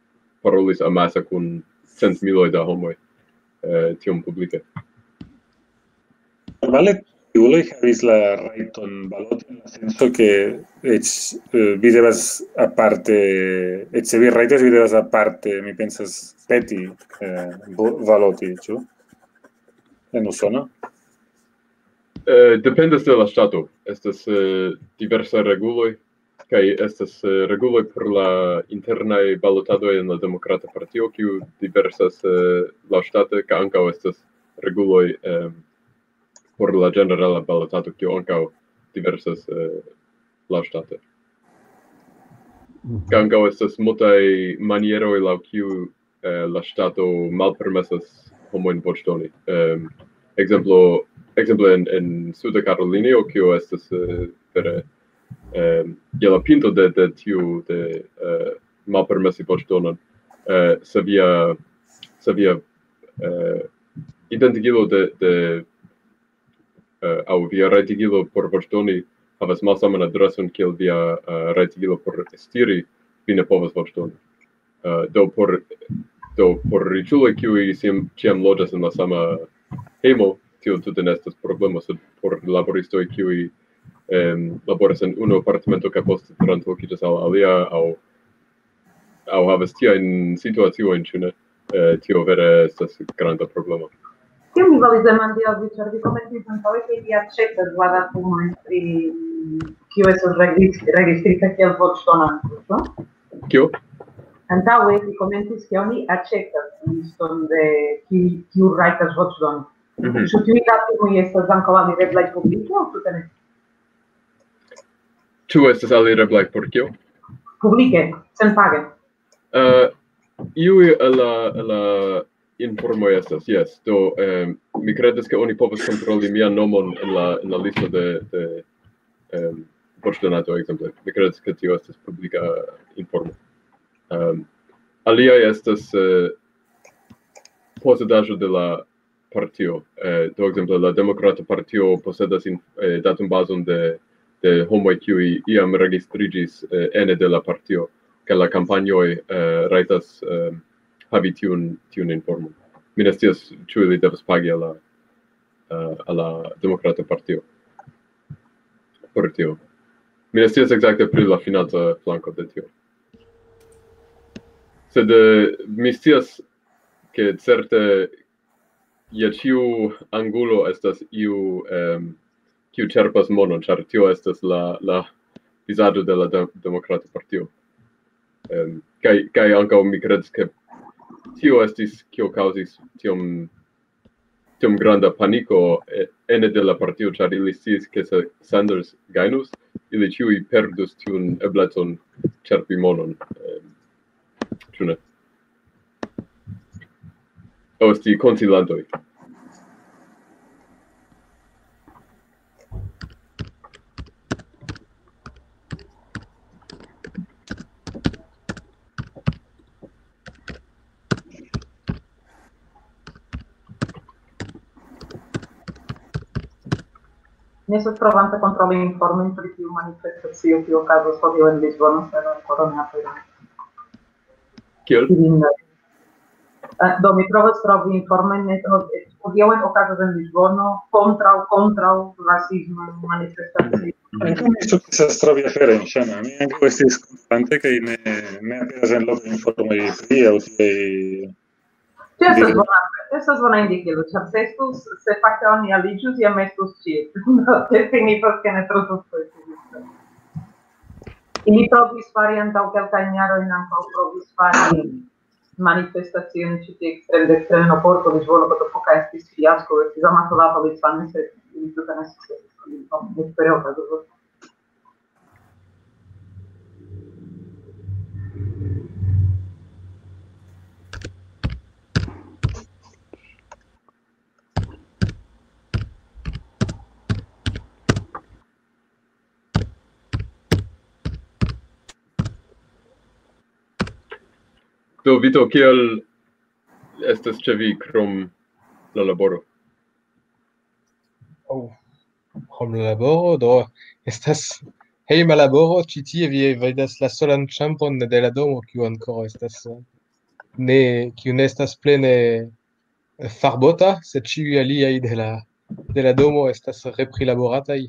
parolis amase kun centmiloj da homoj, eh, tiom publike. Normale, tiuloj havis la rajton baloti en la senso, ke eĉ, eh, vi devas aparte, eĉ se vi rajtas, vi devas aparte, mi pensas, peti, eh, vo-, baloti, ĉu? En Usono? Eh, dependas de la ŝtato. Estas, eh, diversaj reguloj, kaj estas, eh, reguloj por la internaj balotadoj en la Demokrata Partio, kiu diversas, eh, laŭŝtate, kaj ankaŭ estas reguloj, em, por la ĝenerala balotado, kiu ankaŭ diversas, eh, laŭŝtate. Kaj ankaŭ estas multaj manieroj, laŭ kiu, eh, la ŝtato malpermesas homojn voĉdoni. Em, ekzemplo, ekzemple en, en Suda Karolinio, kio estas, eh, vere, em, je la pinto de, de tiu, de, eh, malpermesi voĉdonon, eh, se via, se via, eh, identigilo de, de, eh, aŭ via rajtigilo por voĉdoni havas malsaman adreson kiel via, eh, rajtigilo por estiri, vi ne povas voĉdoni. Eh, do por, do por riĉuloj, kiuj sim-, ĉiam loĝas en la sama hejmo, tio tute ne estas problemo, sed por laboristoj, kiuj, em, laboras en unu apartamento kaj poste translokiĝas al alia, aŭ, aŭ havas tiajn situaciojn, ĉu ne? Eh, tio vere estas granda problemo. Kion mi volis demandi al vi, ĉar vi komencis antaŭe, ke vi aĉetas la datumojn pri, mm, kiu estos regis-, registrita kiel voĉdonanto, ĉu? Kio? Antaŭe vi komencis, ke oni aĉetas liston de ki-, kiu rajtas voĉdoni. Mhm. Ĉu tiuj datumoj estas ankaŭ alireblaj publike aŭ tute ne? Ĉu estas alireblaj por kio? Publike, senpage. Eh, iuj el la, el la informoj estas, jes. Do, em, mi kredas, ke oni povas kontroli mian nomon en la, en la listo de, de, em, voĉdonanto, ekzemple. Mi kredas, ke tio estas publika informo. Em, aliaj estas, eh, posedaĵo de la partio. Eh, do, ekzemple, la Demokrata Partio posedas in-, eh, datumbazon de, de homoj, kiuj iam registriĝis, eh, ene de la partio, kaj la kampanjoj, eh, rajtas, eh, havi tiun, tiun informon. Mi ne scias, ĉu ili devas pagi al la, eh, al la Demokrata Partio por tio. Mi ne scias ekzakte pri la financa flanko de tio. Sed, eh, mi scias, ke certe je ĉiu angulo estas iu, em, kiu ĉerpas monon, ĉar tio estas la, la vizaĝo de la de-, Demokrata Partio. Em, kaj, kaj ankaŭ mi kredas, ke tio estis, kio kaŭzis tiom, tiom granda paniko, eh, ene de la partio, ĉar ili sciis, ke se Sanders gajnus, ili ĉiuj perdus tiun eblecon ĉerpi monon. Em, ĉu ne? Aŭ esti konsilantoj. Mi estas provanta kontroli informojn pri tiu manifestacio, kiu okazas hodiaŭ en Lisbono, sed ankoraŭ ne aperas. Kiel? Ilin, eh, do, mi provas trovi informojn, ne, no, eh, hodiaŭ okazas en Lisbono kontraŭ, kontraŭ rasisma manifestacio. Ankaŭ mi sukcesas trovi aferojn, Ŝana. Mi ankaŭ estis konstante, kaj ne, ne aperas en lokaj informoj pri aŭ tiaj. Tio estas bona, tio estas bona indikilo, ĉar se estus, se fakte oni aliĝus, jam estus ĉie. Tio signifas, ke ne tro sukcesis. Ili provis fari antaŭ kelkajn jarojn, ankaŭ provis fari manifestacion ĉi tie ekstrem dekstre en Oporto, Lisbono, Botafogo, estis fiasko, estis amaso da policanoj, sed ili tute ne sukcesis. Vespere okazos. Do, Vito, kiel estas ĉe vi krom la laboro? Oh, krom la laboro, do estas hejma laboro, ĉi tie vi vidas la solan ĉambron de la domo, kiu ankoraŭ estas, eh, ne, kiu ne estas plene, eh, farbota, sed ĉiuj aliaj de la, de la domo estas reprilaborataj.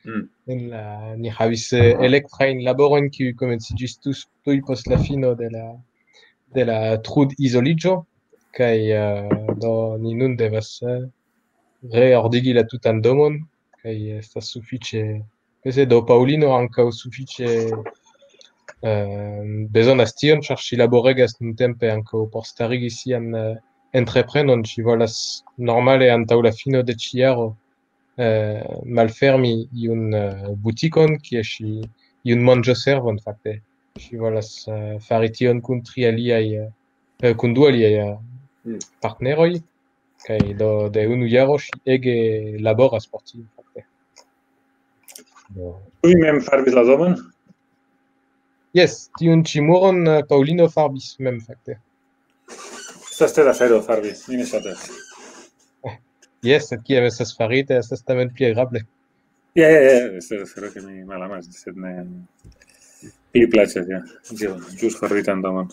Mm. En la, ni havis, eh, elektrajn laborojn, kiuj komenciĝis tus-, tuj post la fino de la, de la trud-izoliĝo, kaj, eh, do ni nun devas, eh, reordigi la tutan domon, kaj estas sufiĉe, pese do Paŭlino ankaŭ sufiĉe, eh, bezonas tion, ĉar ŝi laboregas nuntempe ankaŭ por starigi sian, eh, entreprenon. Ŝi volas normale antaŭ la fino de ĉi jaro, eh, malfermi iun, eh, butikon, kie ŝi, iun manĝoservon fakte. Ŝi volas, eh, fari tion kun tri aliaj, eh, eh, kun du aliaj, eh, Mm. partneroj, kaj do de unu jaro ŝi ege laboras por tio fakte. Do, Ĉu vi mem farbis la domon? Jes, tiun ĉi muron, eh, Paŭlino farbis mem fakte. Estas tre da afero farbi, mi ne ŝatas. Jes, sed kiam estas farite, estas tamen pli agrable. Ja, ja, ja, estas afero, ke mi malamas, sed ne pli plaĉas, ja. Dio, ĵus farbitan domon.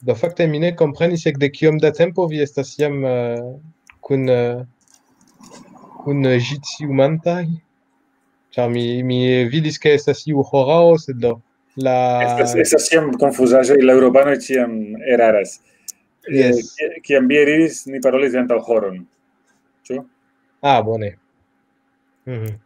Do fakte mi ne komprenis ekde kiom da tempo vi estas jam, eh, kun, eh, kun, eh, ĝi ciumantaj. Ĉar mi, mi vidis, ke estas iu horao, sed do la Estas, estas ĉiam konfuzaĵoj, la eŭropanoj ĉiam eraras. Eh, Jes. ki-, kiam vi eliris, ni parolis antaŭ horon. Ĉu? Ah, bone. Mhm.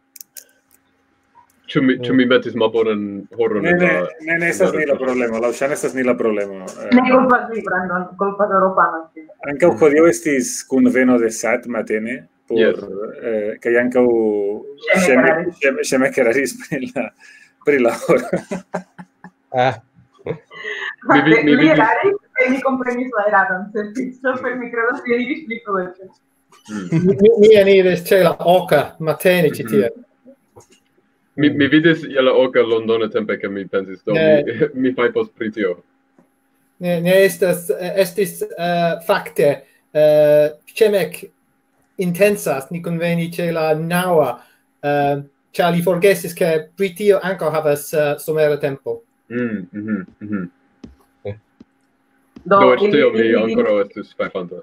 Ĉu mi, ĉu mi metis malbonan horon Ne, en ne, la... ne, ne estas ni la problemo. Laŭ Ŝana estas ni la problemo. Eh, Ne kulpas vi, Brandon, kulpas eŭropanoj. Ankaŭ hodiaŭ estis kunveno de sat matene, por, Yes. Eh, kaj ankaŭ Ŝeme Ŝeme eraris. Ŝeme- Ŝeme eraris pri la, pri la horo. Ah, Mi vi-, mi Li vidis- eraris, kaj mi komprenis la eradon, sed super mi kredas, ke li iris pli frue. Mm. Mi, mi eniris ĉe la oka matene ĉi tie. Mi, mi vidis je la oka Londone tempe, ke mi pensis, do Ne. mi, mi fajfos pri tio. Ne, ne estas, eh, estis, eh, fakte, eh, ĉemek intensas, ni kunveni ĉe la naŭa, eh, ĉar li forgesis, ke Britio ankaŭ havas, eh, somera tempo. Mm, mhm, mhm. Do, Do eĉ ili, tio mi ili, ankoraŭ estus fajfanta.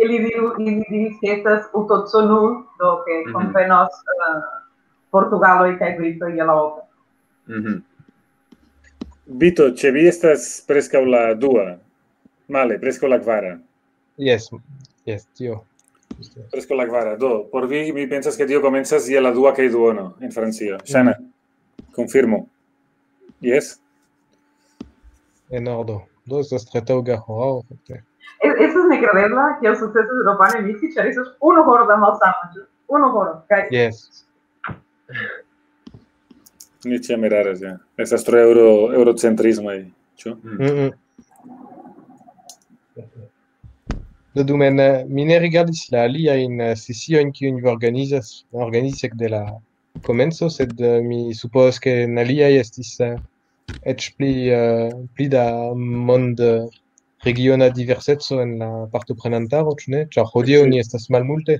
ili diru, ili diris, ke estas utoco nul, do ke Mhm. konvenos, eh, portugaloj kaj britoj je la oka. Mhm. Vito, ĉe vi estas preskaŭ la dua. Male, preskaŭ la kvara. Jes, jes, tio. Preskaŭ la kvara. Do, por vi, mi pensas, ke tio komencas je la dua kaj duono en Francio. Ŝana, konfirmu. Jes? En ordo. Do estas tre taŭga horao, fakte. Es-, Estas nekredebla, kiel sukcesas Eŭropanoj misi, ĉar estas unu horo da malsano, ĉu? Unu horo. Kaj Jes. Ni ĉiam eraras, ja. Estas tro eŭro-, eŭrocentrismaj, ĉu? Mm, mm. Do dume, eh, mi ne rigardis la aliajn, eh, sesiojn, kiujn vi organizas, organizis ekde la komenco, sed, eh, mi supozas, ke en aliaj estis, eh, eĉ pli, eh, pli da mond, eh, regiona diverseco en la partoprenantaro, ĉu ne? Ĉar hodiaŭ ni estas malmulte.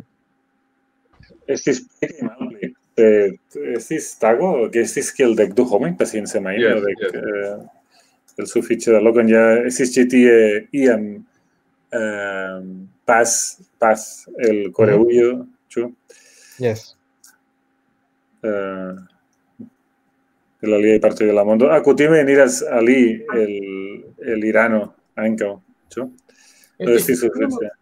Estis pli kaj malpli. Eh, Estis tago, ke estis kiel dek du homoj, pasinse maino, Yes, dek, yes. eh, el sufiĉe da lokon ja estis ĉi tie iam eh, paz, paz el Koreujo, ĉu? Yes. Eh, el aliaj partoj de la mondo. Ah, kutime eniras ali el, el Irano ankaŭ, ĉu? Do estis sufiĉe.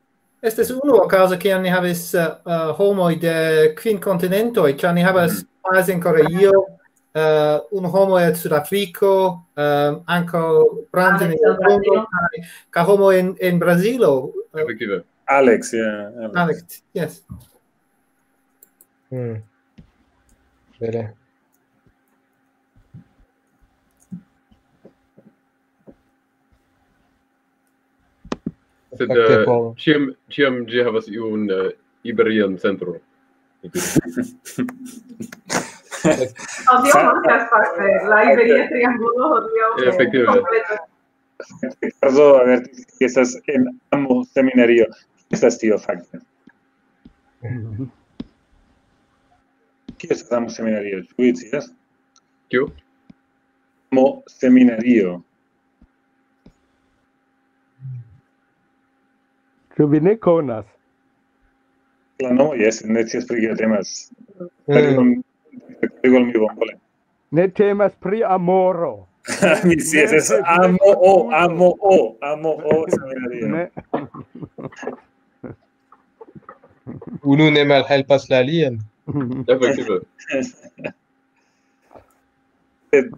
Estis unu okazo, kiam ni havis uh, uh, homoj de kvin kontinentoj, ĉar ni havas paz en Koreio, uh, unu homo el Sudafriko, uh, ankaŭ Brandon en Aleksandra Kongo, kaj, kaj homo en, en Brazilo. Uh, Efektive. Alex, yeah, Alex. Alex, yes. Hmm. Bele. Sed Fakte eh, por- ĉiam, ĉiam ĝi havas iun eh, iberian centron. Hodiaŭ mankas fakte la Iberia triangulo hodiaŭ. Efektive. Kompleta. Ricardo avertis, ke estas en amo seminario. Estas tio fakte. Kio estas amo seminario? Ĉu vi scias? Kiu? Amo seminario. Ĉu vi ne konas? La nomo, jes, ne scias pri kio temas. Mm. Igual mi bonvole. Ne temas pri amoro. Mi scias, es amo o, amo o, amo o seminario. Ne. Unu ne malhelpas la alian. Efektive. Sed,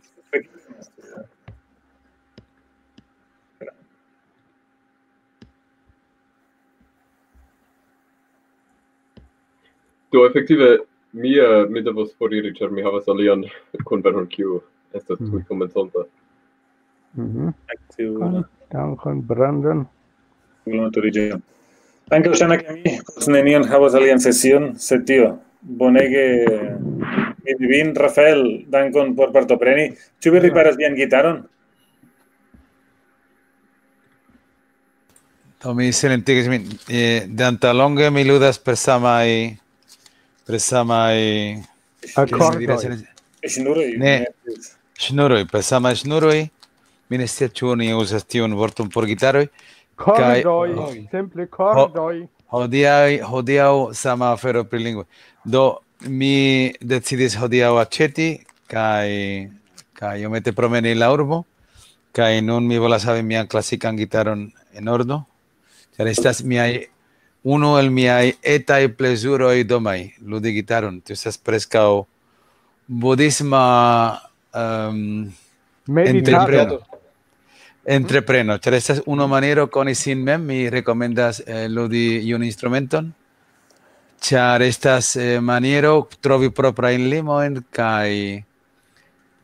Do efektive mi eh, mi devos foriri, ĉar mi havas alian konvenon, kiu estas tuj komenconta. Mhm. tiu Dankon, Brandon. Maturiĝo. Ankaŭ ŝajnas, ke mi post nenion havas alian sesion, sed tio. Bonege vidi vin, Rafael, dankon por partopreni. Ĉu vi riparas vian gitaron? Do mi silentigis min. Eh, de antaŭlonge mi ludas per samaj, per samaj Akordoj. Ŝnuroj? Ne. Ŝnuroj, per samaj ŝnuroj. Mi ne scias, ĉu oni uzas tiun vorton por gitaroj. Kordoj, Kaj- simple kordoj. Hodiaŭ, hodiaŭ sama afero pri lingvo. Do mi decidis hodiaŭ aĉeti kaj, kaj iomete promeni la urbo. Kaj nun mi volas havi mian klasikan gitaron en ordo. Ĉar estas miaj, unu el miaj etaj plezuroj domaj, ludi gitaron. Tio estas preskaŭ budisma um, Meditado. entrepreno. Entrepreno, ĉar estas unu maniero koni sin mem, mi rekomendas eh, ludi iun instrumenton, ĉar estas eh, maniero trovi proprajn limojn kaj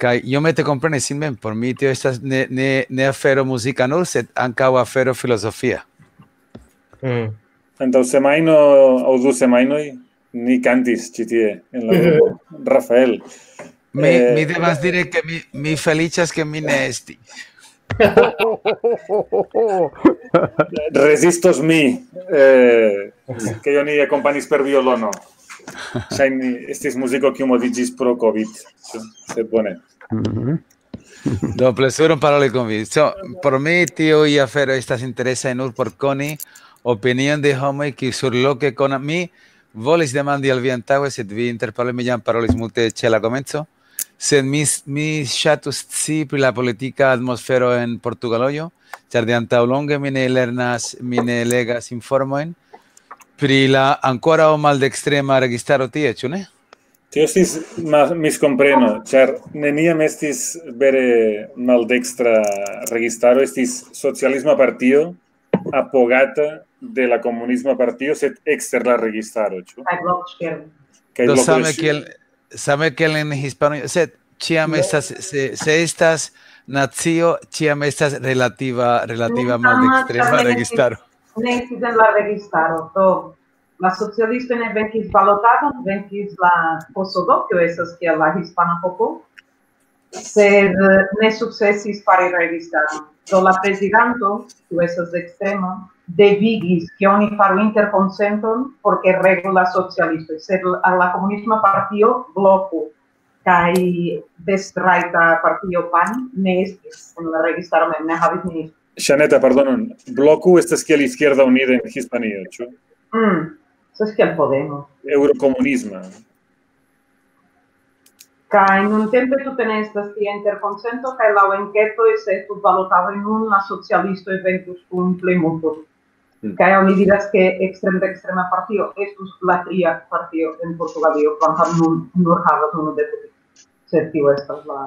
kaj iomete kompreni sin mem. Por mi tio estas ne, ne, ne afero muzika nur, sed ankaŭ afero filozofia. Mm. Antaŭ semajno aŭ du semajnoj ni kantis ĉi tie en la urbo. Rafael. Mi, Eh, mi devas diri, ke mi, mi feliĉas, ke mi ne estis. Rezistos mi, eh, ke oni akompanis per violono. Ŝajne estis muziko, kiu moviĝis pro covid. Sed bone. Mhm. Do, plezuron paroli kun vi. So, por mi, tiuj aferoj estas interesaj nur por koni opinion de homoj, kiuj surloke konas. Mi volis demandi al vi antaŭe, sed vi interparoli, mi jam parolis multe ĉe la komenco. Sed mi, mi ŝatus scii pri la politika atmosfero en Portugalojo, ĉar de antaŭ longe mi ne lernas, mi ne legas informojn pri la ankoraŭ maldekstrema registaro tie, ĉu ne? Tio estis ma-, miskompreno, ĉar neniam estis vere maldekstra registaro, estis socialisma partio apogata de la komunisma partio, sed ekster la registaro, ĉu? Kaj blokŝirmo. Kaj Do bloko same de ŝi- kiel, same kiel en Hispanujo, sed ĉiam estas, se, se estas nacio, ĉiam estas relativa, relativa Ne, sama, maldekstrema tamen registaro. Ne estis en la registaro, do la socialistoj ne venkis balotadon, venkis la Kosovo, kio estas kiel la hispana popolo, sed eh, ne sukcesis fari registaron. Do la prezidanto, kiu estas ekstrema, devigis, ke oni faru interkonsenton, por ke regu la socialistoj, sed la, la komunisma partio bloku kaj destrajta partio pan ne estis en la registaro mem, ne havis ministro. Ŝaneta, pardonon, bloku estas kiel Izquierda Unida en Hispanio, ĉu? Mm, estas kiel Podemos. Eurokomunisma. Kaj nuntempe tute ne estas tia interkonsento, kaj laŭ enketoj, se estus balotado nun, la socialistoj venkus kun plejmulto. Kaj oni diras, ke ekstrem-, ekstrema partio estus la tria partio en Portugalio, kvankam nun nur havas unu deputito. Sed tio estas la,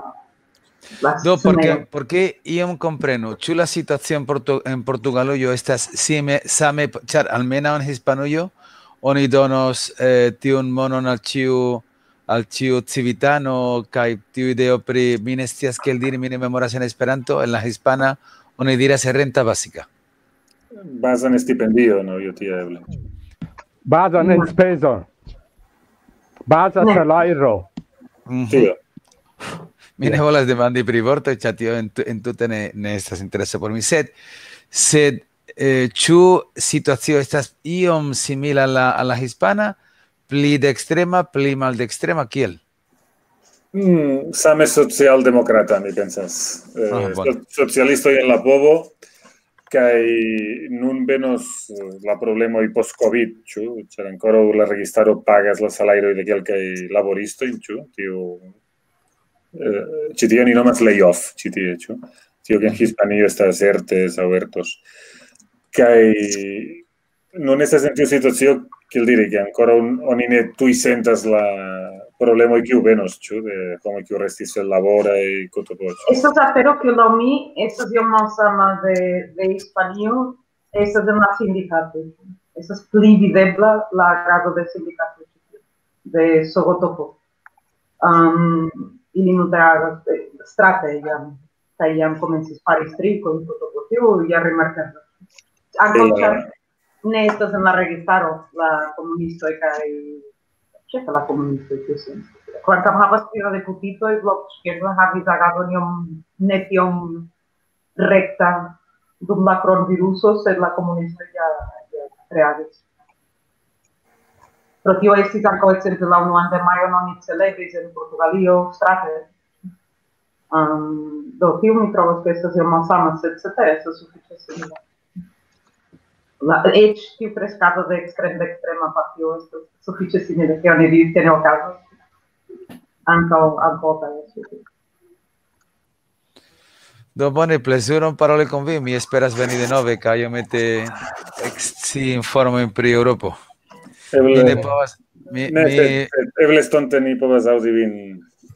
la Do, porque, scenejo. Porque iom komprenu, ĉu la situacio en, Portu, en Portugalujo estas sime, same, ĉar almenaŭ en Hispanujo oni donos eh, tiun monon al ĉiu al ĉiu civitano, kaj tiu ideo pri, mi ne scias kiel diri, mi ne memoras en Esperanto, en la hispana oni diras renta básica. Bazan estipendio, no, io tia eble. Bazan enspezo. Baza Ne. Salajro. Mhm. Tio. Mi ne volas demandi pri vortoj, ĉar tio en, tu- en tute ne, ne estas interesa por mi, sed, sed eh, ĉu situacio estas iom simila al la, al la hispana, pli dekstrema, pli maldekstrema, kiel? Mm, same socialdemokrata, mi pensas. Eh, Ah, bone. so- socialistoj en la povo, kaj nun venos eh, la problemoj post-COVID, ĉu? Ĉar ankoraŭ la registaro pagas la salajroj de kelkaj laboristoj, ĉu? Tiu, eh, ĉi tio ni nomas layoff, ĉi tie, ĉu? Tio ke en Hispanio estas ertes aŭ ertos. Kaj nun estas en tiu situacio, kiel diri, ke ankoraŭ un- oni ne tuj sentas la problemoj kiu venos, ĉu? De homoj kiu restis senlaboraj, kotopo, ĉu? Estas afero, kiu laŭ mi estas iom malsama de, de Hispanio, estas en la sindikato. Estas pli videbla la agado de sindikato, de Sogotopo. Um, ili multe agas eh, strate jam, kaj jam komencis fari striko, kotopo, tio ja rimarkeblas. Ankaŭ Bela. Ĉar ne estas en la registaro la komunistoj kaj ĉefe la komunistoj, kiu sen. Kvankam havas pli da deputitoj, Blok Izquierda havis agadon iom ne tiom rekta dum la kronviruso, sed la komunistoj ja, ja reagis. Pro tio estis ankaŭ ekzemple la unuan de majo oni celebris en Portugalio strate. Um, do tio mi trovas, ke estas iom malsama, sed cetere estas sufiĉe simila. La, eĉ tiu kreskado de ekstrem-, de ekstrema partio estas sufiĉe simila, ke oni diris, ke ne okazos. Ankaŭ antaŭ kaj Do bone, plezuron paroli kun vi. Mi esperas veni denove kaj iomete ekscii informojn pri Eŭropo. Mi ne Eble, povas, mi, ne, mi, sed, sed eble estonte ni povas aŭdi vin.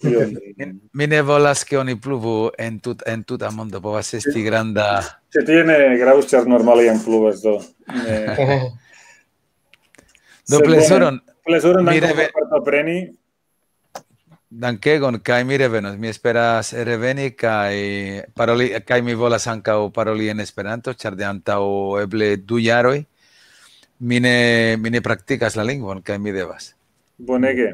Ion. mi, mi ne volas, ke oni pluvu en, tut, en tuta mondo. Povas esti granda. Ĉe tie ne gravus, ĉar normale jam pluvas, do. Ne. Do Sed bone, plezuron. Plezuron, Mi dankon reve- por partopreni. Dankegon, kaj mi revenos. Mi esperas reveni kaj paroli, kaj mi volas ankaŭ paroli en Esperanto, ĉar de antaŭ eble du jaroj mi ne, mi ne praktikas la lingvon, kaj mi devas. Bonege.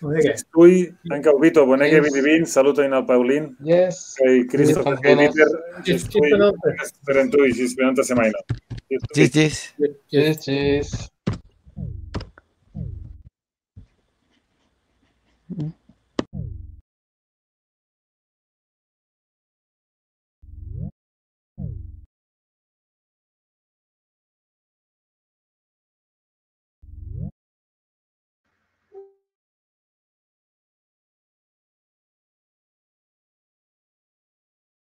Bonege. Tuj, ankaŭ Vito, bonege Yes. vidi vin, salutojn al Paulin, Yes. kaj Christopher, Yes, kaj buenas. Dieter, Ĝis tuj, denove. esperantoj, ĝis esperanta semajno. Ĝis, ĝis. Ĝis, ĝis.